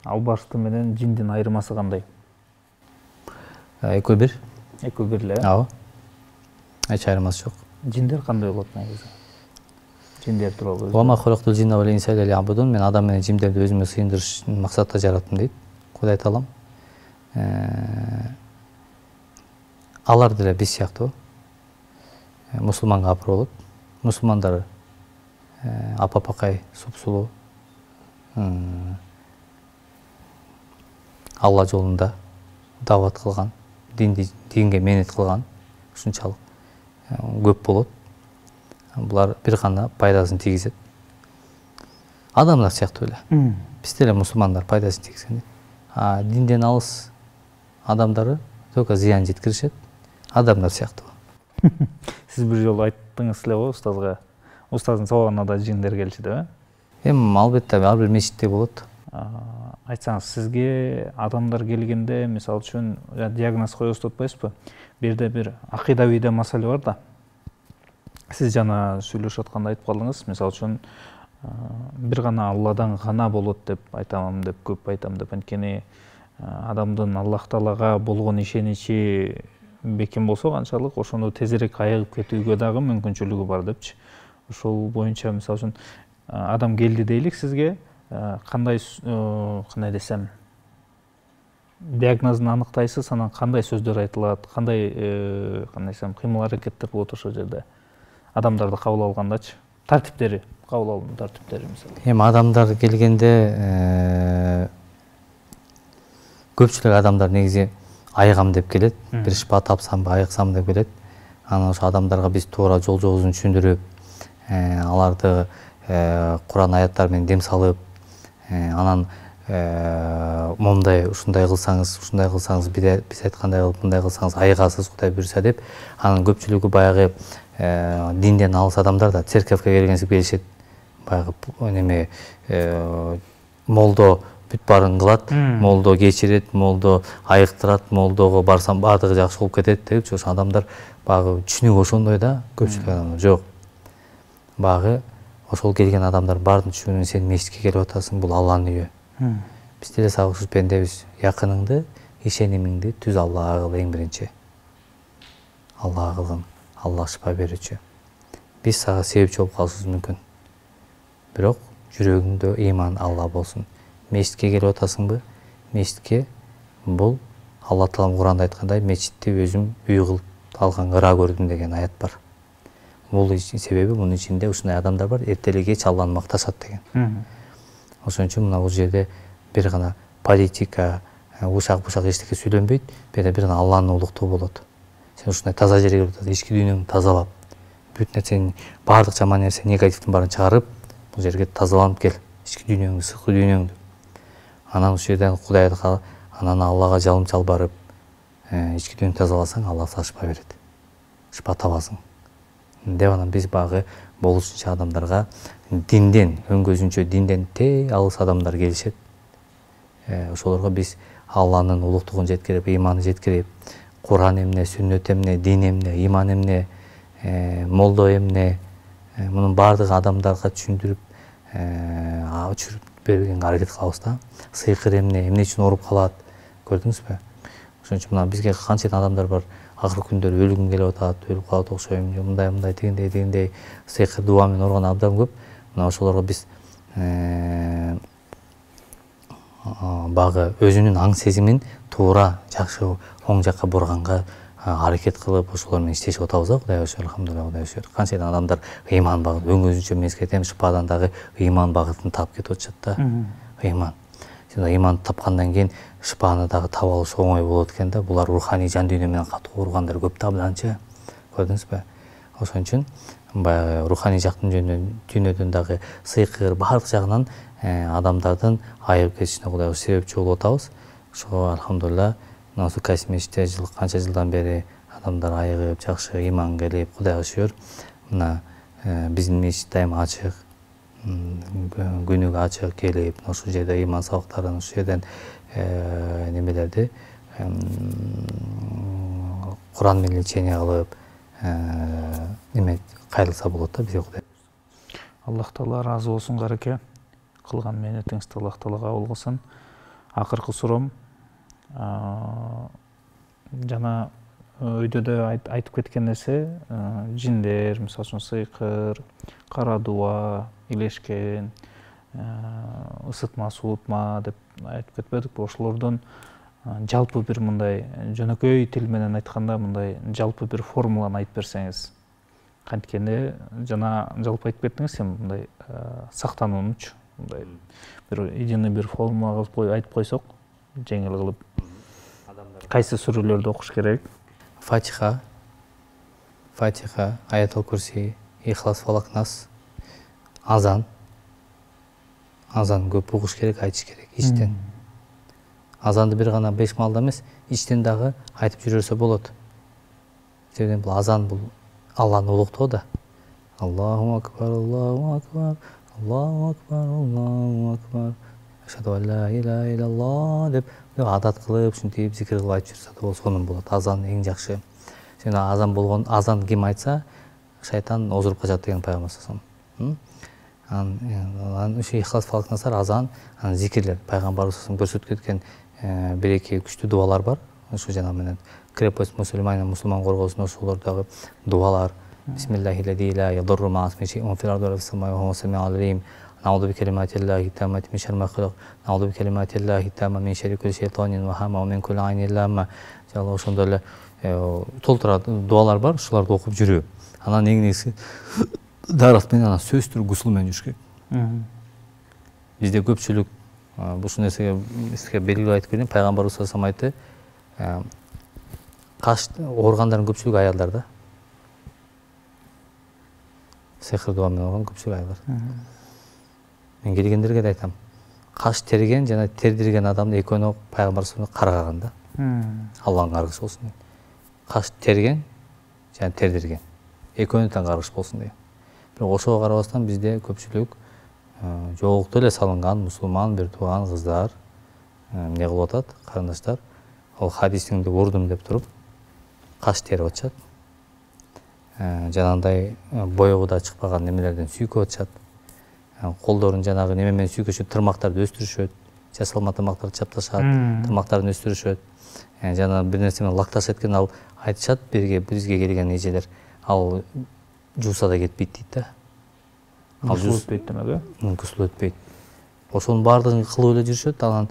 Албарсты менен жиндин айырмасы кандай? Экөө бир. Экөө бир эле. Ооба. Эч айырмасы жок. Жиндер кандай болот негизи? Жиндер тууралуу. Вама халактул джинна вал инса илля лиябудун. Мен адам менен жиндерди өзүмө сыйындырыш максатта жараттым дейт Кудай Таалам. Алар деле биз сыяктуу. Мусулманга апыр болот. Мусулмандар апа-пакай, супсулуу. Алла жолунда дават кылган, динге мээнет кылган ушунчалык көп болот. Булар бир гана пайдасын тийгизет. Адамдар сыяктуу эле. Биз деле мусулмандар пайдасын тийгизген. Динден алыс адамдары только зыян жеткиришет. Адамдар сыяктуу. Сиз бир жолу айттыңыз эле го устазга. Устаздын сабагына да жиндер келчү деп, Албетте, ар бир мечитте болот. Айтсаңыз, сизге адамдар келгенде, мисалы үчүн диагноз коебуз деп атпайсызбы? Бу жерде бир акыйдавий да маселе бар да. Сиз жана сүйлөшүп атканда айтып калдыңыз, мисалы үчүн бир гана Алладан гана болот деп айтамын деп көп айтам деп, анткени адамдын Аллах Таалага болгон ишеничи бекем болсо канчалык, ошону тезирээк айыгып кетүүгө дагы мүмкүнчүлүгү бар депчи. Ошол боюнча мисалы үчүн адам келди дейлик сизге, кандай десем, диагнозун аныктайсыз, анан кандай сөздөр айтылат, кандай десем, кыймыл аракеттер болот ошол жерде адамдарды кабыл алгандачы, тартиптери, кабыл алуу тартиптери мисалы. Адамдар келгенде көпчүлүк адамдар негизи айыгам деп келет, бир шыпа тапсамбы, айыксам деп келет. Анан ошо адамдарга биз туура жол жобозун түшүндүрүп, аларды Куран аяттары менен дем салып, анан момундай ушундай кылсаңыз биз айткандай кылып мындай кылсаңыз айыгасыз Кудай буйруса деп, анан көпчүлүгү баягы динден алыс адамдар да церковке келгенсип келишет. Баягы неме молдо бүт баарын кылат, молдо кечирет, молдо айыктырат, молдого барсам баардыгы жакшы болуп кетет депчи. Ошо адамдар баягы түшүнүгү ошондой да, көпчүлүк адамдар жок. Баягы ошол келген адамдар баардыгын түшүнүп, сен мечитке келип атасың, бул Алланын үйү. Биз деле сагышып пендебиз, якыныңды, ишенимиңди түз Аллага кыл эң биринчи. Аллага кылгын, Алла шыпа берүүчү. Биз сага себепчи болуп калышыбыз мүмкүн. Бирок жүрөгүңдө ыйман Алла болсун. Мечитке келип атасыңбы? Мечитке бул Алла Таалам Куранда айткандай, мечитти өзүм үй кылып алган ыра көрдүм деген аят бар. Бул себеби мунун ичинде ушундай адамдар бар, эртеле кеч Алланы макташат деген. Ошон үчүн мына бул жерде бир гана политика, ушак-бушак эчтеке сүйлөнбөйт, бир гана Алланын улуктугу болот. Сен ушундай таза жерге келип атасың, ички дүйнөңдү тазалап, бүт нерсени, баардык жаман нерсе, негативдин баарын чыгарып, бул жерге тазаланып кел, ички дүйнөңдү, сырткы дүйнөңдү. Анан ушул жерден Кудайга, анан Аллага жалым-чал барып, ички дүйнөңдү тазаласаң, Алла сага шыпа берет. Шыпа табасың. Деп анан биз багы болушунча адамдарга динден, өңгөзүнчө динден алыс адамдар келишет. Ошолорго биз Алланын улуктугун жеткирип, ыйманды жеткирип, Куран эмне, сүннөт эмне, дин эмне, ыйман эмне, молдо эмне, мунун баардыгы адамдарга түшүндүрүп бергенге аракет кылабыз да. Сыйкыр эмне үчүн ооруп калат, көрдүңүзбү? Ошон үчүн мына бизге канча адамдар бар, акыркы күндөрү өлүгүм келип атат, өлүп калат окшойм, мындай тигиндей сыйкыр дуа менен ооруган абдан көп. Мына ошолорго биз багы өзүнүн аң сезимин туура жакшы оң жакка бурганга аракет кылып, ошолор менен иштешип атабыз да, Кудайга шүгүр, алхамдулилла, Кудайга шүгүр. Канча адамдар ыйман багыт, өңгөзүнчө мезгилден шыпадан дагы ыйман багытын таап кетип атышат да. Ыйман. Сен ыйманды тапкандан кийин шыпаны дагы таап алыш оңой болот экен да. Булар руханий жан дүйнө менен катуу ооругандар көп да абданчы. Көрдүңүзбү? Ошон үчүн баягы руханий жактын дүйнөдөн дагы сыйкыр баардык жагынан адамдардын айыгып кетишине Кудайга себепчи болуп атабыз. Ошо алхамдулилла мына Кайсы мечитте канча жылдан бери адамдар айыгып, жакшы ыйман келип, Кудайга шүгүр. Мына биздин мечит дайыма ачык. күнүгө ачык келип ушул жерде ыйман сабактарын ушул жерден немелерди Куран менен лечение кылып неме кайрылса болот да бизге Кудай. Аллах Таала разы болсун Караке. Кылган мээнетиңизди Аллах Таала кабыл кылсын. Акыркы суроом жана өйдө да айтып кеткен нерсе жиндер, мисалы үчүн сыйкыр, кара дуба, илешкен, ысытма, суутма деп айтып кетпедикпи? Ошолордун жалпы бир мындай жөнөкөй тил менен айтканда мындай жалпы бир формуланы айтып берсеңиз. Канткени жана жалпы айтып кеттиңиз, сен мындай сактануунучу мындай бир идеалный бир формула кылып айтып койсок, жеңил кылып. Кайсы сүрөлөрдү окуш керек? Фатиха, Аятал Курси, Ихлас, Фалак, Нас, азан көп угуш керек, айтыш керек ичтен. Азанды бир гана 5 маалда эмес, ичтен дагы айтып жүрөрсө болот. Себеби бул азан бул Алланы улуктоо да. Аллаху акбар, Аллаху акбар, Аллаху акбар, Аллаху акбар. Ашхаду ан ла иляха илляллах деп адат кылып, ушинтип зикир кылып айтып жүрсө да сонун болот. Азан эң жакшы. Сен азан ким айтса, шайтан озуруп качат деген пайгамбар саллаллаху алейхи. Ушул Ихлас, Фалак, Насар азан, зикирлер. Пайгамбарыбыз көрсөтүп кеткен бир-эки күчтүү дуалар бар. Ошо жана менен крепость мусулман коргоосун ошолордогу дуалар. Бисмиллахи ла ядру ма исми шейун фил арди ва фис самаи ва хува самиул алим. Науду би калиматиллахи таммати мин шарри ма халак. Науду би калиматиллахи тамма мин шарри кулли шайтанин ва хама ва мин кулли айнин ламма. Жалал ошондой эле толтура дуалар бар, ушуларды окуп жүрүү. Анан эң негизги дарат менен сөзсүз гусул менен жүрүш керек. Бизде көпчүлүк ушул нерсеге сизге белгилеп айтып берейин. Пайгамбарыбыз саллаллаху алейхи айтты, каш ооргандардын көпчүлүгү аялдарда. Сехир дуа менен оорган көпчүлүк аялдар. Мен келгендерге да айтам, каш терген жана тердирген адамды экөөнү пайгамбар саллаллаху алейхи караган да. Алланын каргышы болсун дейт. Каш терген жана тердирген экөөнү тең каргыш болсун дейт. Бирок ошого карабастан бизде көпчүлүк жоолукту эле салынган мусулман бир тууган кыздар эмне кылып атат, карындаштар, ал хадисиңди урдум деп туруп каш терип атышат. Жанагындай боёгу да чыкпаган немелерден сүйкөп атышат. Колдорун жанагы неме менен сүйкөшөт, тырмактарды өстүрүшөт, жасалма тырмактарды чапташат, тырмактарын өстүрүшөт. Жана бир нерсе менен лакташат экен, ал айтышат бизге келген эжелер, ал жууса да кетпейт дейт да. Гусул өтпөйт демек, э? Гусул өтпөйт. Ошонун баардыгын кылып эле жүрүшөт. Анан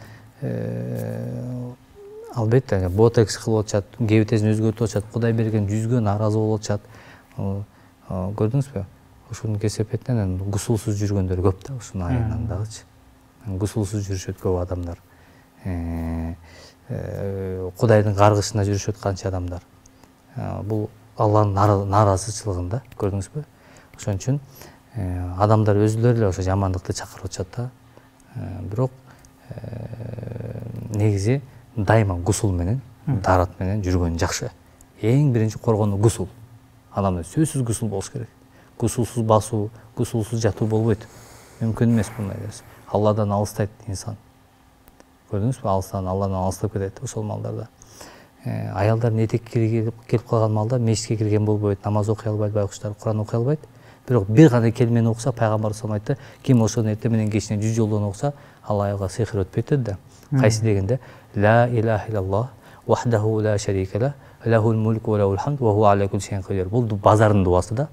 албетте ботекс кылып атышат, кебитесин өзгөртүп атышат, Кудай берген жүзгө нааразы болуп атышат. Көрдүңүзбү? Ушунун кесепетинен гусулсуз жүргөндөр көп да, ушунун айынан дагычы. Гусулсуз жүрүшөт көп адамдар. Кудайдын каргышына жүрүшөт канча адамдар. Бул Алланын нааразычылыгында, көрдүңүзбү? Ошон үчүн адамдар өзүлөрү эле ошо жамандыкты чакырып атышат да. Бирок негизи дайыма гусул менен, дарат менен жүргөн жакшы. Эң биринчи коргону гусул. Адамда сөзсүз гусул болуш керек. Гусулсуз басуу, гусулсуз жатуу болбойт. Мүмкүн эмес мындай нерсе. Алладан алыстайт инсан. Көрдүңүзбү? Алладан алыстап кетет ошол маалдарда. Аялдардын этекке келип калган маалда мешитке кирген болбойт, намаз окуй албайт, байкуштар Куран окуй албайт. Бирок бир гана келмени окуса, пайгамбар саллаллаху алейхи айтты, ким ошону эртең менен кечинен 100 жолдон окуса, ал аялга сыйкыр өтпөйт деди да. Кайсы дегенде, ла илаха иллаллах вахдаху ла шарика ла, лахул мулку ва лахул хамд ва хуа аля кулли шайин кадир. Бул базардын дуасы да.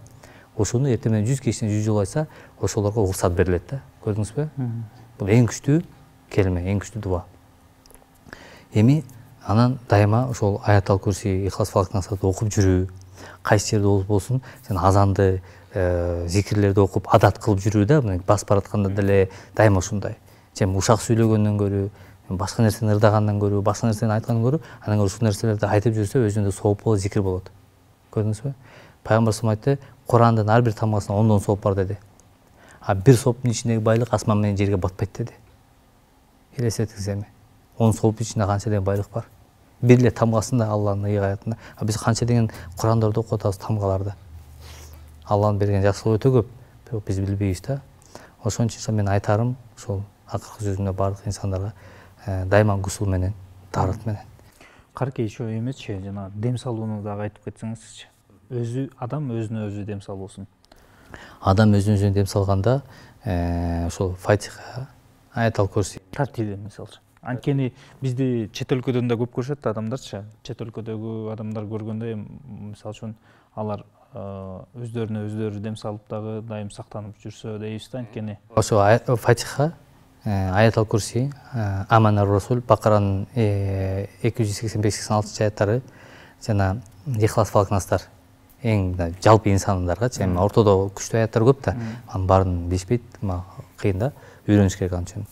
Ошону эртең менен 100 кечинен 100 жол айтса, ошолорго уруксат берилет да. Көрдүңүзбү? Бул эң күчтүү келме, эң күчтүү дуа. Эми анан дайыма ошол Аятал Курси, Ихлас, Фалак, Насарды окуп жүрүү, кайсы жерде болсун, сен азанды, зикирлерди окуп адат кылып жүрүү да, басып баратканда деле дайыма ушундай. Жем ушак сүйлөгөндөн көрүү, башка нерсени ырдагандан көрүү, башка нерсени айткандан көрүү, анан ушул нерселерди айтып жүрсө өзүндө сооп болот, зикир болот. Көрдүңүзбү? Пайгамбар саллаллаху алейхи айтты, Курандын ар бир тамгасына 10 сооп бар деди. А бир сооптун ичиндеги байлык асман менен жерге батпайт деди. Элестетиңиз эми. 10 сооптун ичинде канча деген байлык бар. Бир эле тамгасында Алланын ыйык аятында. Биз канча деген Курандарды окуп атабыз тамгаларды. Алланын берген жакшылыгы өтө көп, бирок биз билбейбиз да. ошон үчүн мен айтарым ушул акыркы сөзүмдө баардык инсандарга дайыма гусул менен, таарат менен. Карке еще эмесчи, жана дем салууну дагы айтып кетсеңизчи. Адам өзүнө өзү дем салуусун. Адам өзүнө дем салганда ошол Фатиха, Аятал Курси Тартиби мисалы. Анткени бизди чет өлкөдөн да көп көрүшөт адамдарчы. Чет өлкөдөгү адамдар көргөндө мисалы үчүн алар өздөрүнө өздөрү дем салып дагы дайым сактанып жүрсө дейбиз да, анткени. Ошо Фатиха, Аятал Курси, Аманар Расул, Бакаранын 285-86 аяттары жана Ихлас Фалакнастар эң жалпы инсандардагычы, эми ортодо күчтүү аяттар көп да, анын баарын билишпейт, кыйын да, үйрөнүш керек ал үчүн.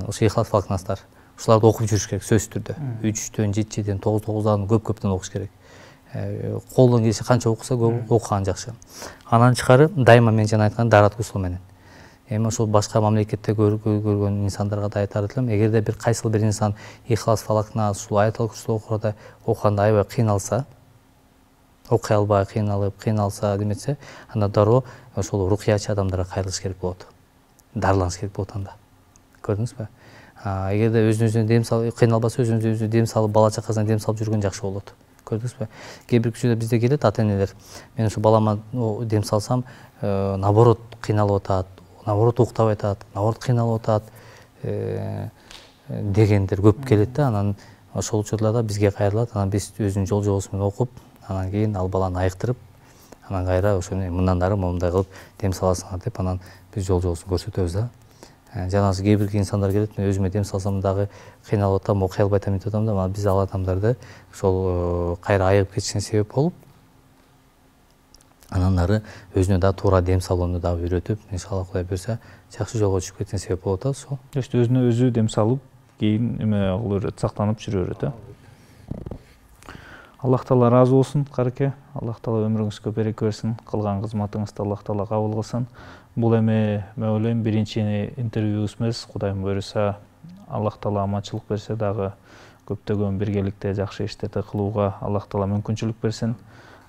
Ошо Ихлас Фалакнастар, ушуларды окуп жүрүш керек сөзсүз түрдө. 3-төн, 7-ден, 9-9дан көп-көптөн окуш керек. Колдон келсе канча окуса көп окуган жакшы. Анан тышкары дайыма мен жана айткан дарат гусул менен. Эми ошол башка мамлекетте көргөн инсандарга да айтар элем, эгерде бир кайсыл бир инсан Ихлас Фалакна, ушул Аятал Курси окуганда аябай кыйналса, окуй албай кыйналса деметсе, анда дароо ошол рукуячы адамдарга кайрылыш керек болот. Дарыланыш керек болот анда. Көрдүңүзбү? Эгерде өзүнүзүнө дем салып, кыйналбаса өзүнүзүнө дем салып, бала чакасына дем салып жүргөн жакшы болот. Көрдүңүзбү? Кээ бир кишилер бизде келет, ата-энелер. Мен ушу балама дем салсам, наоборот кыйналып атат, наоборот уктабай атат, наоборот кыйналып атат дегендер көп келет да. Анан ошол учурларда бизге кайрылат, анан биз өзүнүн жол жобосу менен окуп, анан кийин ал баланы айыктырып, анан кайра ошону мындан ары момундай кылып дем саласыңар деп, анан биз жол жобосун көрсөтөбүз да. Жанагы кээ бир инсандар келет, мен өзүмө дем салсам дагы кыйналып атам, окуй албай атам, деп атам да, биз ал адамдарды ошол кайра айыгып кетишине себеп болуп, анан ары өзүнө дагы туура дем салууну дагы үйрөтүп, иншалла Кудай буйрса, жакшы жолго түшүп кетишине себеп болуп атат ошол. Өзүнө өзү дем салып, кийин эме кылып берет, сактанып жүрө берет, э. Аллах Таала разы болсун, Карке. Аллах Таала өмүрүңүзгө береке берсин, кылган кызматыңызды Аллах Таала кабыл кылсын. Бул эми мен ойлойм биринчи интервьюбуз эмес, Кудайым буйруса, Аллах Таала аманчылык берсе дагы көптөгөн биргеликте жакшы иштерди кылууга Аллах Таала мүмкүнчүлүк берсин.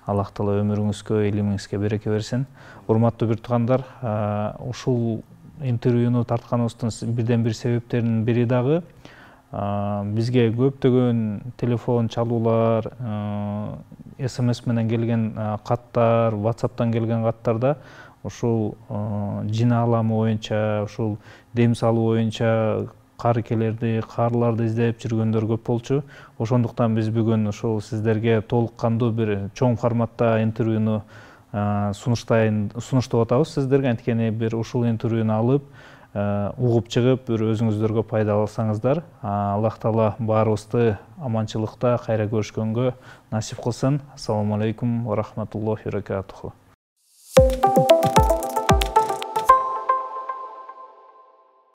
Аллах Таала өмүрүңүзгө, илимиңизге береке берсин. Урматтуу бир туугандар, ушул интервьюну тартканыбыздын бирден бир себептеринин бири дагы бизге көптөгөн телефон чалуулар, СМС менен келген каттар, WhatsApp'тан келген каттарда ушул жин аламы боюнча, ушул дем салуу боюнча карыкелерди, каарыларды издеп жүргөндөр көп болчу. Ошондуктан биз бүгүн ушул сиздерге толук кандуу бир чоң форматта интервьюну сунуштап атабыз сиздерге. Анткени бир ушул интервьюну алып, угуп чыгып, бир өзүңүздөргө пайда алсаңыздар. Аллах Таала баарыбызды аманчылыкта кайра көрүшкөнгө насип кылсын. Ассаламу алейкум ва рахматуллахи ва баракатуху.